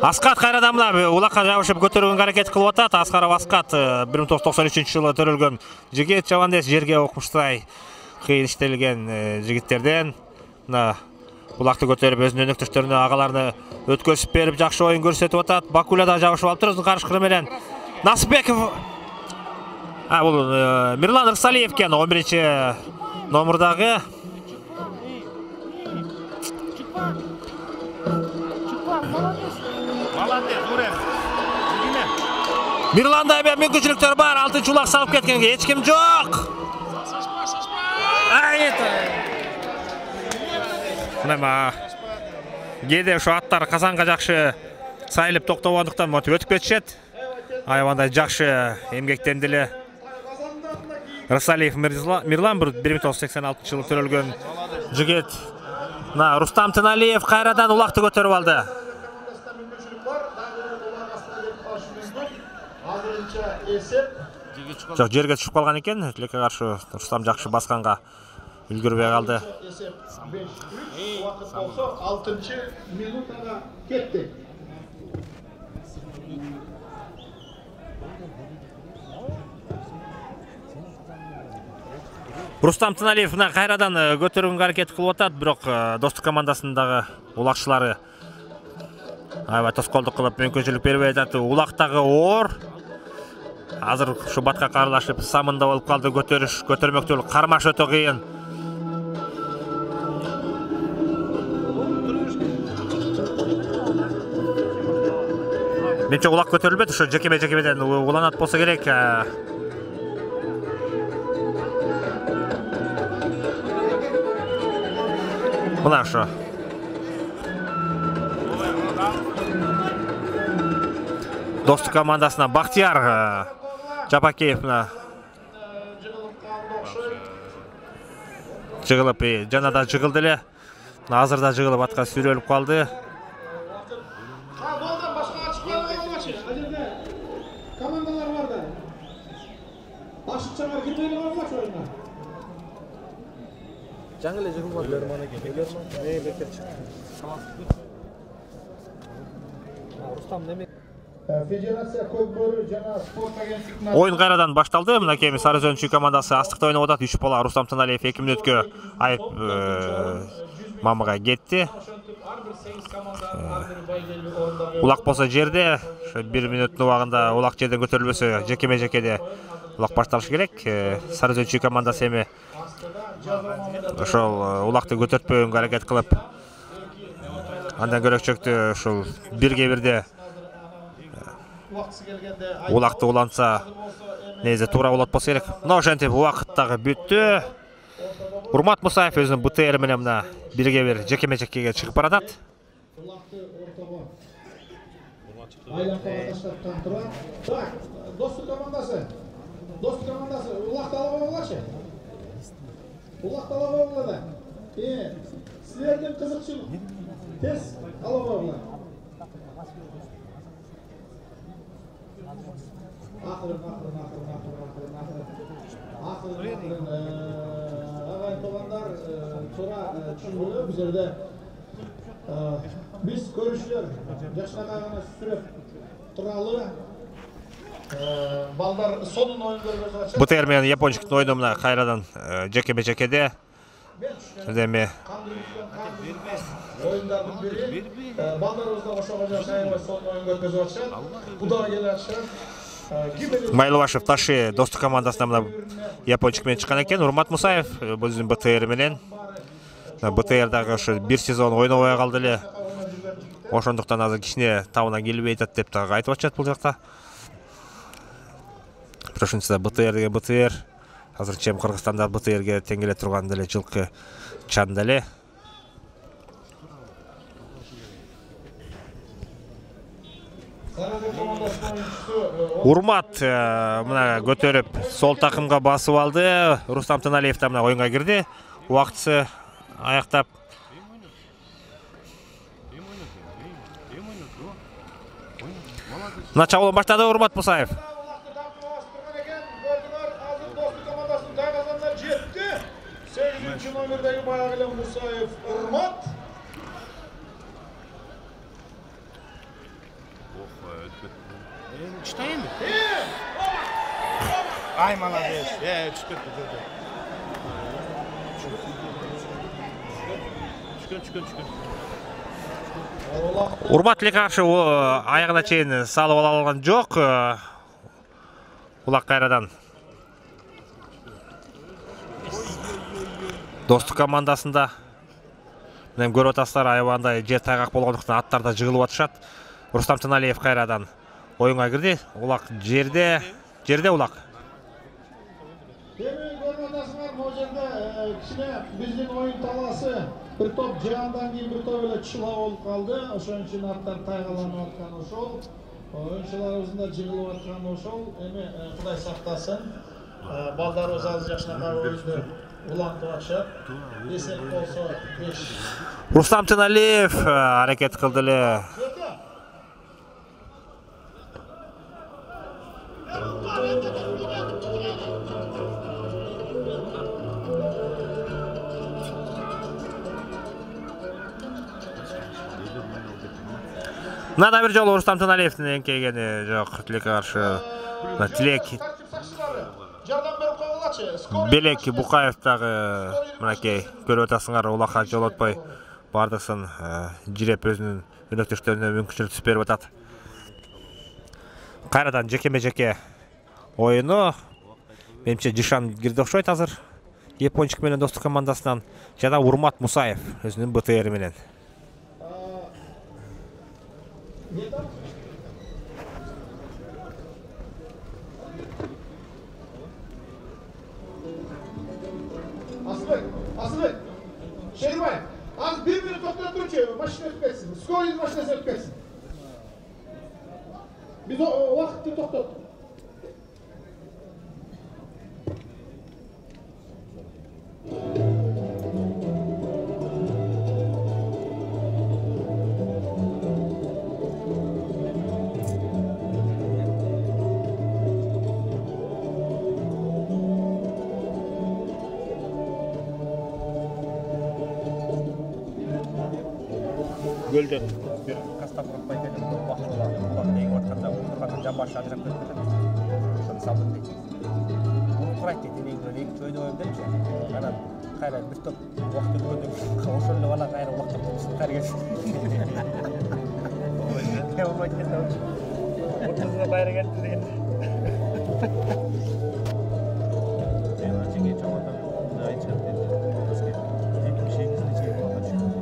Speaker 1: Аскат кайрадан мына улакка жабышып көтөрүүгө аракет кылып атат. Аскаров Аскат бир миң тогуз жүз токсон үчүнчү жылы төрөлгөн жигит, жабандес жерге окмуштай кыйын иштелген жигиттерден. Мына улакты көтөрүп өзүнүн өнөктөштөрүнө, агаларына өткөзүп берип жакшы оюн көрсөтүп атат. Бакуля да жабышып алыптыр өзүнүн карышкыры менен. Насыпбеков А, бул Мирлан Рысалиев экен, он биринчи номердагы. Мирланда эми мүмкүнчүлүктөр бар, алтынчы улак салып кеткенге эч ким жок. Мына кээде ошо аттар казанга жакшы сайылып токтогондуктан мотип өтүп кетишет. Айвандай жакшы эмгектендиле. Рысалиев Мирлан бир миң тогуз жүз сексен алтынчы жылы төрөлгөн жигит. Мына Рустам Тыналиев кайрадан улакты көтөрүп алды. Жок, жерге түшүп калган экен. Тилекке каршы Рустам жакшы басканга үлгүрбөй калды.
Speaker 2: алтынчы минутага кетти.
Speaker 1: Рустам Тыналиев кайрадан көтөрүүгө аракет кылып атат, бирок Достук командасындагы улакчылары аябай тоскоолдук кылып мүмкүнчүлүк бербей атат. Улактагы оор азыр ушу батка карлашып самында болуп калды. Көтөрүш, көтөрмөктүү кармаш өтө кыйын. Менче улак көтөрүлбөйт, ошо жекеме-жекемеден уланат болсо керек. Мына ошо. Достук командасына Бактияр Жапакеев жыгылып, жана да жыгылды эле. Азыр да жыгылып атка сүрөлүп калды.
Speaker 2: Командалар бар да. Ашыкчалар кирбей калгачы оюнга.
Speaker 3: Жаңы эле жыгылып Лерман экен. Лерман не бекер чыкты. Рустам неме?
Speaker 2: Федерация Көкбөрдү жана спорт агенттигинин
Speaker 1: Оюн кайрадан башталды. Мынакей Сарыөзүнчү командасы астыкта ойноп атат. үч бала Рустам Тыналиев эки мүнөткө айып мамага кетти. Улак болсо жерде, ошо бир мүнөттүн убагында улак жерден көтөрүлбөсө жекеме-жекеде улак башталышы керек. Сарыөзүнчү командасы эми ошол улакты көтөртпөгөнгө аракет кылып, андан көрөкчөктү ушул бирге бирде улакты улантса незе туура болот болсо керек. Мына ошентип убакыт дагы бүттү. Урмат Мусаев өзүнүн бэ тэ эр менен мына бирге бир жекеме-жекеге чыгып баратат.
Speaker 2: Так, Достук командасы. Достук командасы улакты алып алгылачы. Улакты алып алгыла. Э, силердин кызыкчылык. Тез алып алгыла. Акырын, акырын, акырын, акырын, акырын, акырын. Акырын, агай туугандар, туура түшүнгүлө бул жерде биз көрүүчүлөр жакшыраак гана сүрөп туралы балдар сонун оюн көргөзүп атышат.
Speaker 1: БТР менен япончуктун ойуну мына кайрадан жекеме жекеде. Эми
Speaker 2: оюндардын бири балдарыбызда ошого жакшы аябай сонун оюн көргөзүп атышат. Буда келе атышат.
Speaker 1: Майлыбашев Таши достук командасына мына япончук менен чыккан экен. Урмат Мусаев өзүнүн БТР менен. БТР дагы ошо бир сезон ойнобой калды эле. Ошондуктан азыр кичине табына келбей атат деп дагы айтып атышат бул жакта. Ошентсе БТР деген БТР. Азырча эми Кыргызстанда БТРге тең келе турган деле жылкы чанда эле. Урмат мына көтөрүп сол такымга басып алды. Рустам Тыналиев да мына оюнга кирди. Убактысы аяктап. Мына чабуулун баштады Урмат Мусаев.
Speaker 2: сегизинчи номердеги баягы эле Мусаев Урмат.
Speaker 4: Читайынбы? Ай, молодец. Э, түшкөн түшкөн. Түшкөн, түшкөн, түшкөн.
Speaker 1: Урмат эле каршы аягына чейин салып ала алган жок. Улак кайрадан достук командасында мен көрүп атасыздар, аябандай жер тайгак болгондуктан аттарда жыгылып атышат. Рустам Тыналиев кайрадан оюнга кирди. Улак жерде, жерде улак.
Speaker 2: Эми көрүп атасыңар, могу жерде кичине биздин оюн талаасы бир топ жаандан кийин бир топ эле чыла болуп калды. Ошон үчүн аттар тайгаланып аткан ошол. Оюнчуларыбыздын да жыгылып атканы ошол. Эми Кудай сактасын. Балдарыбыз азыр жакшыраак оюнду улантып атышат. Эсеп болсо беш.
Speaker 1: Рустам Тыналиев аракет кылды эле. Мына бир жолу Рустам Тыналиевдин эңкейгени жок. Тилекке каршы Тилек
Speaker 2: жардам берип койгулачы.
Speaker 1: Белек Букаев дагы мынакей көрүп атасыңар, улакка жолотпой бардысын жиреп өзүнүн өнөктөштөрүнө мүмкүнчүлүк түзүп берип атат. Кайрадан жекеме жеке оюну. Менимче Жишан кирди окшойт азыр. Япончук менен достук командасынан жана Урмат Мусаев өзүнүн БТР менен.
Speaker 2: Асылбек, Асылбек, Шерибаев, аз bir minut токтоп турчу, машина өтүп кетсин. Скорый машинасы өтүп кетсин. Биз убакытты токтоттук.
Speaker 1: Gölden bir kastap kurupay gelip bakıyorlar. Kulak neyi vatkanda, kulakın jambaşı ajırap ketкен. Şunu saldım deydi. Bunu kurayt deydi, neyin göre, neyin köyde oyun demiş ya. Ana kayra bir top vakit ötürdüm. Oşonlu bana kayra vakit ötürsün, kayra geçsin. Ne olmak geldi olmuş. Ortasına bayra geldi değil.
Speaker 4: Ben açık geç olmadan daha hiç yaptım. Bir şey gizli çevirip atmışım.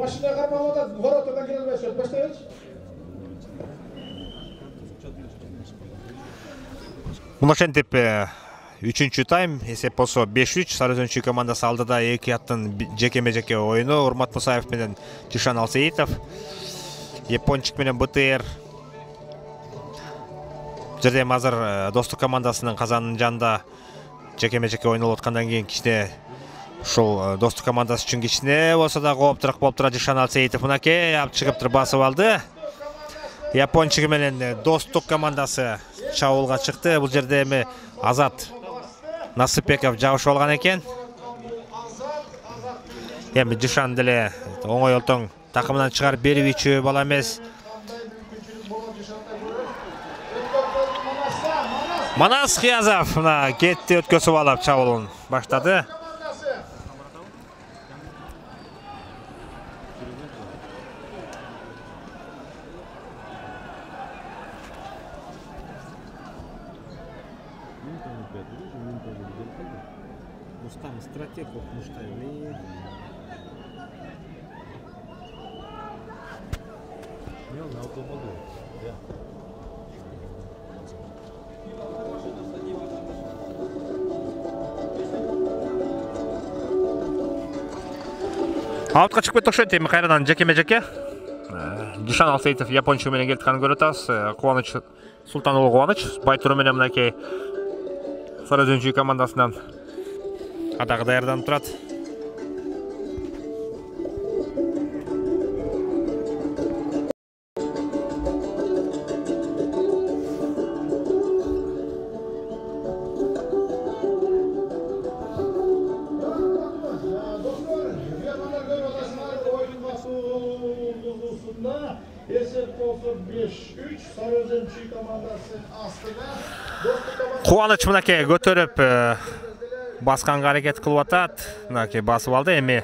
Speaker 2: Машина кармаганда воротадан кире албайсың. Баштайбыз.
Speaker 1: Муношентип үчүнчү тайм эсеп болсо беш үч. Сарыөзөнчү командасы алдыда эки аттын жекеме-жеке оюну. Урмат Мусаев менен Жишан Алсейитов. Япончук менен БТР. Жерде азыр достук командасынын казанынын жанында жекеме-жеке ойнолуп аткандан кийин кичине Ушул Достук командасы үчүн кичине болсо да кооптураак болуп турат Жишан Алсейитов. Мынакей алып чыгыптыр, басып алды. Япончугу менен Достук командасы чабуулга чыкты. Бул жерде эми Азат Насыпбеков жабышып алган экен. Эми Жишан деле оңой олтоң такымынан чыгарып берүүчү бала эмес. Манас Кыязов мына кетти, өткөзүп алып чабуулун баштады.
Speaker 3: Рустам стратег окумуштайбы.
Speaker 1: Аутка чыгып кетти окшойт. Эми кайрадан жекеме-жеке. Жишан Алсейитов япончу менен келтканын көрүп атабыз. Кубаныч Султан уулу Кубаныч Байтуру менен мынакей Сарыөзөнчү командасынан адагы даярданып турат. Кубаныч мынакей көтөрүп басканга аракет кылып атат. Мынакей басып алды. Эми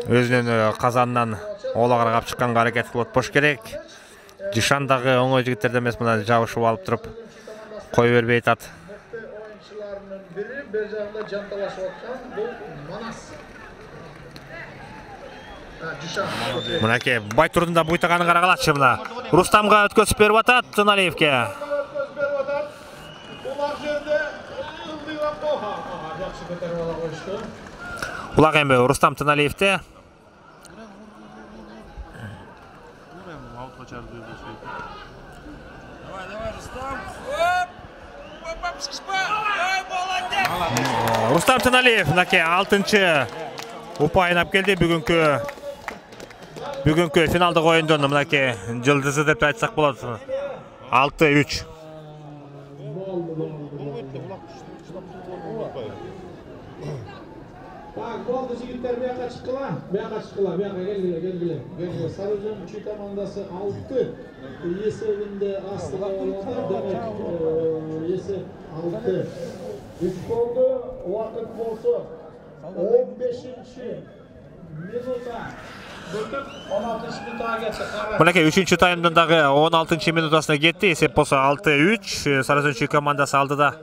Speaker 1: өзүнүн казанынан ола каргап чыкканга аракет кылып атпаш керек. Жишан дагы оңой жигиттерден эмес, мына жабышып алып туруп кое бербей атат.
Speaker 2: Оюнчулардын бири бер жагында жанталашып аткан бул Манас.
Speaker 1: Мынакей Байтурдун да буйтаганын карагалачы мына. Рустамга өткөзүп берип атат Туналиевке. Улак эми Рустам Туналиевте. Рустам Туналиев мынакей алтынчы упайын алып келди бүгүнкү бүгүнкү финалдык оюндон. Мынакей жылдызы деп айтсак болот. алты үч.
Speaker 2: Так, болду жигиттер, бияка чыккыла, бияка чыккыла, бияка келгиле, келгиле, келгиле. Сарыөзөнчү командасы алты эсебинде астыга алганда, демек эсеп алты үч болду. Убакыт болсо он бешинчи минутта өтүп он алтынчы минутага кетти.
Speaker 1: Мынакей үчүнчү таймдын дагы он алтынчы минутасына кетти. Эсеп болсо алты үч. Сарыөзөнчү командасы алдыда.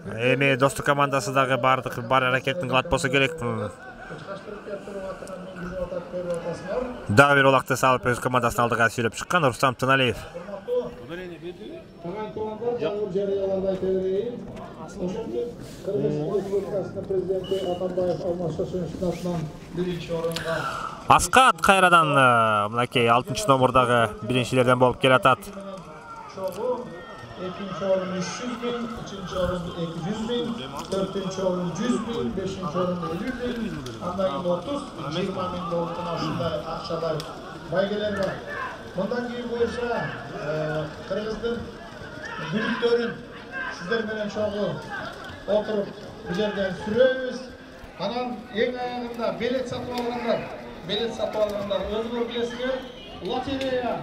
Speaker 1: Эми Достук командасы дагы бардык бар аракетин кылат болсо керек. Дагы бир улакты салып өз командасын алдыга сүйлөп чыккан Рустам Туналиев. Аскат кайрадан мынакей алтынчы номурдагы биринчилерден болуп келатат.
Speaker 2: экинчи орун үч жүз миң, үчүнчү орун эки жүз миң, төртүнчү орун жүз миң, бешинчи орун элүү миң, андан кийин отуз, жыйырма миң болуптун ушундай акчадай байгелер бар. Мындан кийин боюнча Кыргыздын бүлүктөрүн сиздер менен чогуу отуруп бул жерден сүрөбүз. Анан эң аягында билет сатып алгандар, билет сатып алгандар өзүңөр билесиңер, лотерея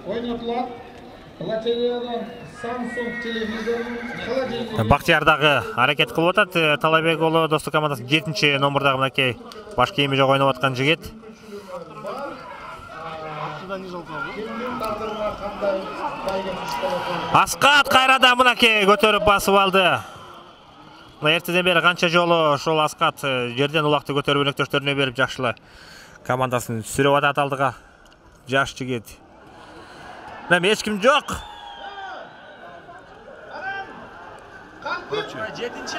Speaker 2: ойнотулат. Лотереядан Samsung телевизорун, холодильник.
Speaker 1: Бактияр дагы аракет кылып атат. Талайбек уулу Достук командасынын жетинчи номурдагы мынакей баш кийими жок ойноп аткан жигит. Аскат кайрадан мынакей көтөрүп басып алды. Мына эртеден бери канча жолу ошол Аскат жерден улакты көтөрүп өнөктөштөрүнө берип жакшылы командасын сүрөп атат алдыга. Жаш жигит. Эми эч ким жок.
Speaker 4: жетинчи.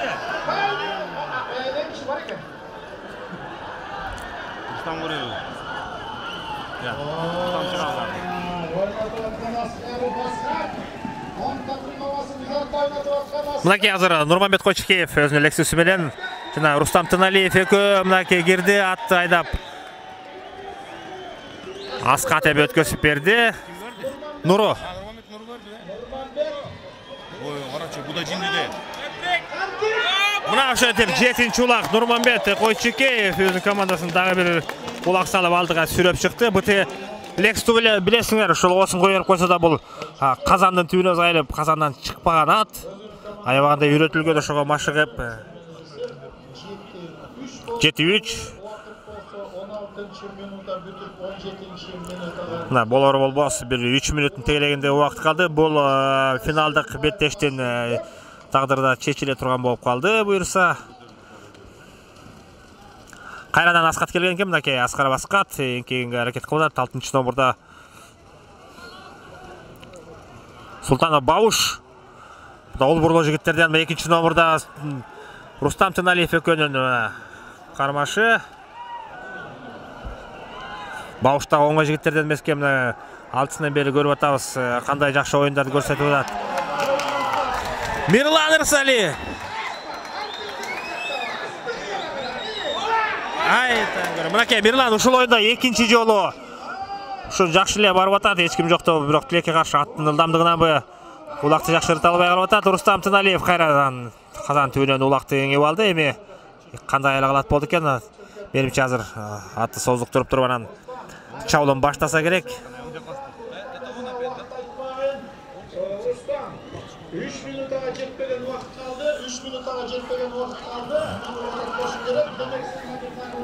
Speaker 4: Рустам көрөбү. Я. Рустам чыгабы.
Speaker 1: Мынакей азыр Нурманбет Койчукеев өзүнүн лексусу менен жана Рустам Тыналиев экөө мынакей кирди, атты айдап аска деп өткөзүп берди. Нуру.
Speaker 4: Ой, карачы, буда жиндиде.
Speaker 1: Мына ошентип жетинчи улак Нурманбет Койчукеев өзүнүн командасын дагы бир улак салып алдыга сүрөп чыкты. БТ Лексті білесіңер, ушул осын қойып койсо да бул казандын түбүнө зайылып, казандан чыкпаган ат. Аябаганда үйрөтүлгөн, ошого машыгып жети үч. Мына болор болбос бир үч мүнөттүн тегелегинде убакыт калды. Бул финалдык беттештин тагдырда чечиле турган болуп калды буюрса. Кайрадан Аскат келген экен, мынакей Аскаров Аскат эңкегенге аракет кылып, алтынчы номурда Султанов Бауш. Ол бурлоо жигиттерден экинчи номурда Рустам Тыналиев экөөнүн кармашы. Баушта оңой жигиттерден эмеске, мына алтысынан бери көрүп атабыз, кандай жакшы оюндарды көрсөтүп атат. Мирлан Ырсали. Ай, таңгыр. Мынакей Мирлан ушул оюнда экинчи жолу ушу жакшы эле барып атат. Эч ким жокто, бирок тилекке каршы аттын ылдамдыгынанбы улакты жакшырта албай калып атат. Рустам Тыналиев кайрадан казан түбүнөн улакты эңип алды. Эми кандай айла калат болду экен? Менимче азыр атты создуктуруп туруп анан чабуулун баштаса керек.
Speaker 2: үч минутага жетпеген убакыт калды. үч минутага жетпеген убакыт калды. Кошу керек. Демек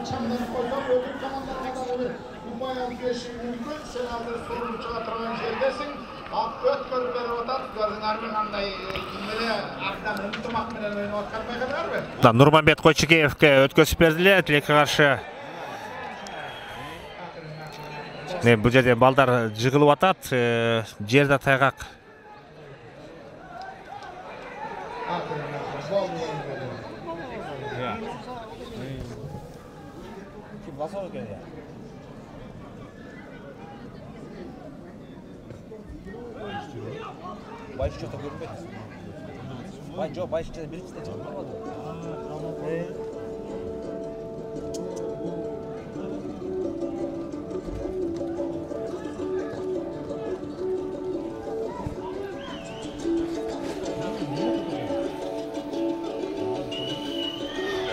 Speaker 2: чамдан койгон өкүл командаларга да бир умаян бериши мүмкүн. Сен азыр сорун чыга турган жердесиң. Ак өткөрүп берип атат. Булардын ар кандай эле абдан ынтымак менен ойноп аткан байкадыңарбы?
Speaker 1: Да, Нурманбет Койчукеевке өткөзүп бердиле, тилекке каршы. Не, бул жерде балдар жыгылып атат, жерде тайгак.
Speaker 3: Байш что-то көрүнбөйт. Бай жок, байш биринчиде чыгып калды.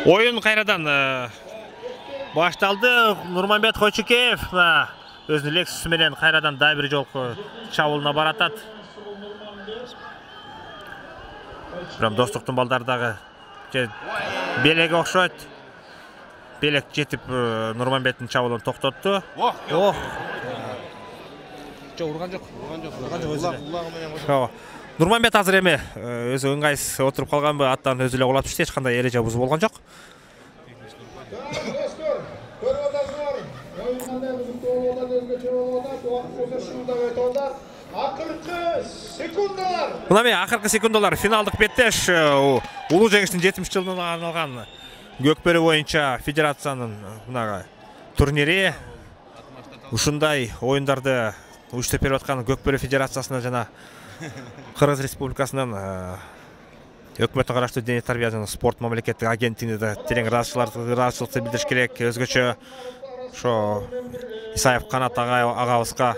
Speaker 1: Oyun kayradan baştaldı. Nurmanbet Койчукеев özünün Lexus менен kayradan daha bir жолку чабуулуна баратат. Прям достуктун балдардагы белеге окшойт. Белек жетип Нурманбеттин чабуулун токтотту. Ох.
Speaker 3: Жок, урган жок. Урган жок. Урган жок.
Speaker 4: Улагы менен.
Speaker 1: Нурманбет азыр эми өзү ыңгайсыз отуруп калганбы, аттан өзү эле кулап түштү, эч кандай эреже бузуу болгон жок.
Speaker 2: Акыркы секундалар.
Speaker 1: Мына мен акыркы секундалар финалдык беттеш улуу жеңиштин жетимиш жылдыгына арналган Көкбөрү боюнча федерациянын мынага турнири. Ушундай оюндарды уюштуп берип аткан Көкбөрү федерациясына жана Кыргыз Республикасынын өкмөткө караштуу дене тарбия жана спорт мамлекеттик агенттигине да терең ыраазычылыкты билдириш керек. Өзгөчө ошо Исаев Канат агабызга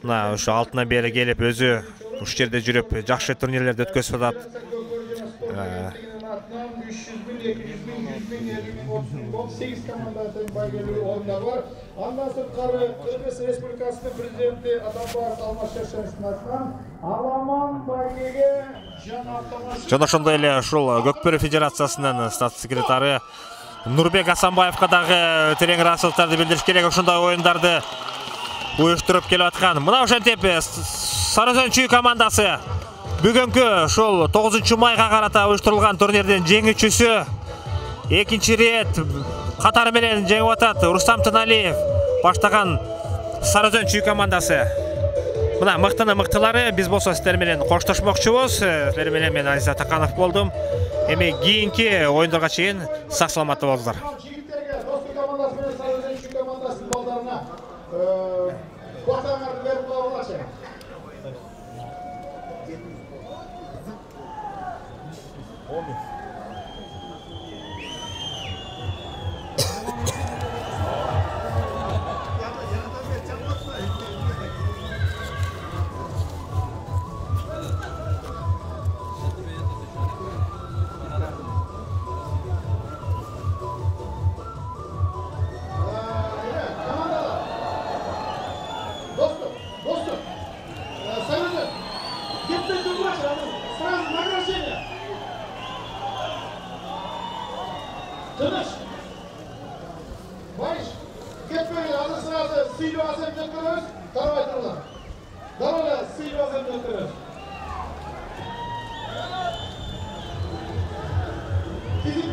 Speaker 1: мына ушу алтынан бери келип өзү ушул жерде жүрүп жакшы турнирлерди өткөзүп атат.
Speaker 2: сегиз командадан байгелүү оюндар бар. Андан сырткары Кыргыз Республикасынын президенти Атамбаев Алмаз Шершеновдун атынан Аламан байгеге жана автомашина.
Speaker 1: Жана ошондой эле ушул Көкбөрү федерациясынын статс секретары Нурбек Асанбаевга дагы терең ыраазычылыктарды билдириш керек. Ошондой оюндарды уюштуруп келип аткан. Мына ошентип Сарыөзөн чүй командасы бүгүнкү ушул тогузунчу майга карата уюштурулган турнирдин жеңүүчүсү экинчи рет катары менен жеңип атат. Рустам Тыналиев баштаган Сарыөзөн чүй командасы. Мына мыктыны мыктылары, биз болсо сиздер менен коштошмокчубуз. Сиздер менен мен Азиза Таканов болдум. Эми кийинки оюндарга чейин сак саламатта болуңуздар.
Speaker 2: Жигиттерге достук командасы менен Сарыөзөн чүй командасынын балдарына квартаңарды берип коелучу. ketmeyin. Hazır sırası Silva Azem Gökörüz. Tarabay turlar. Darala Silva Azem Gökörüz. Fizik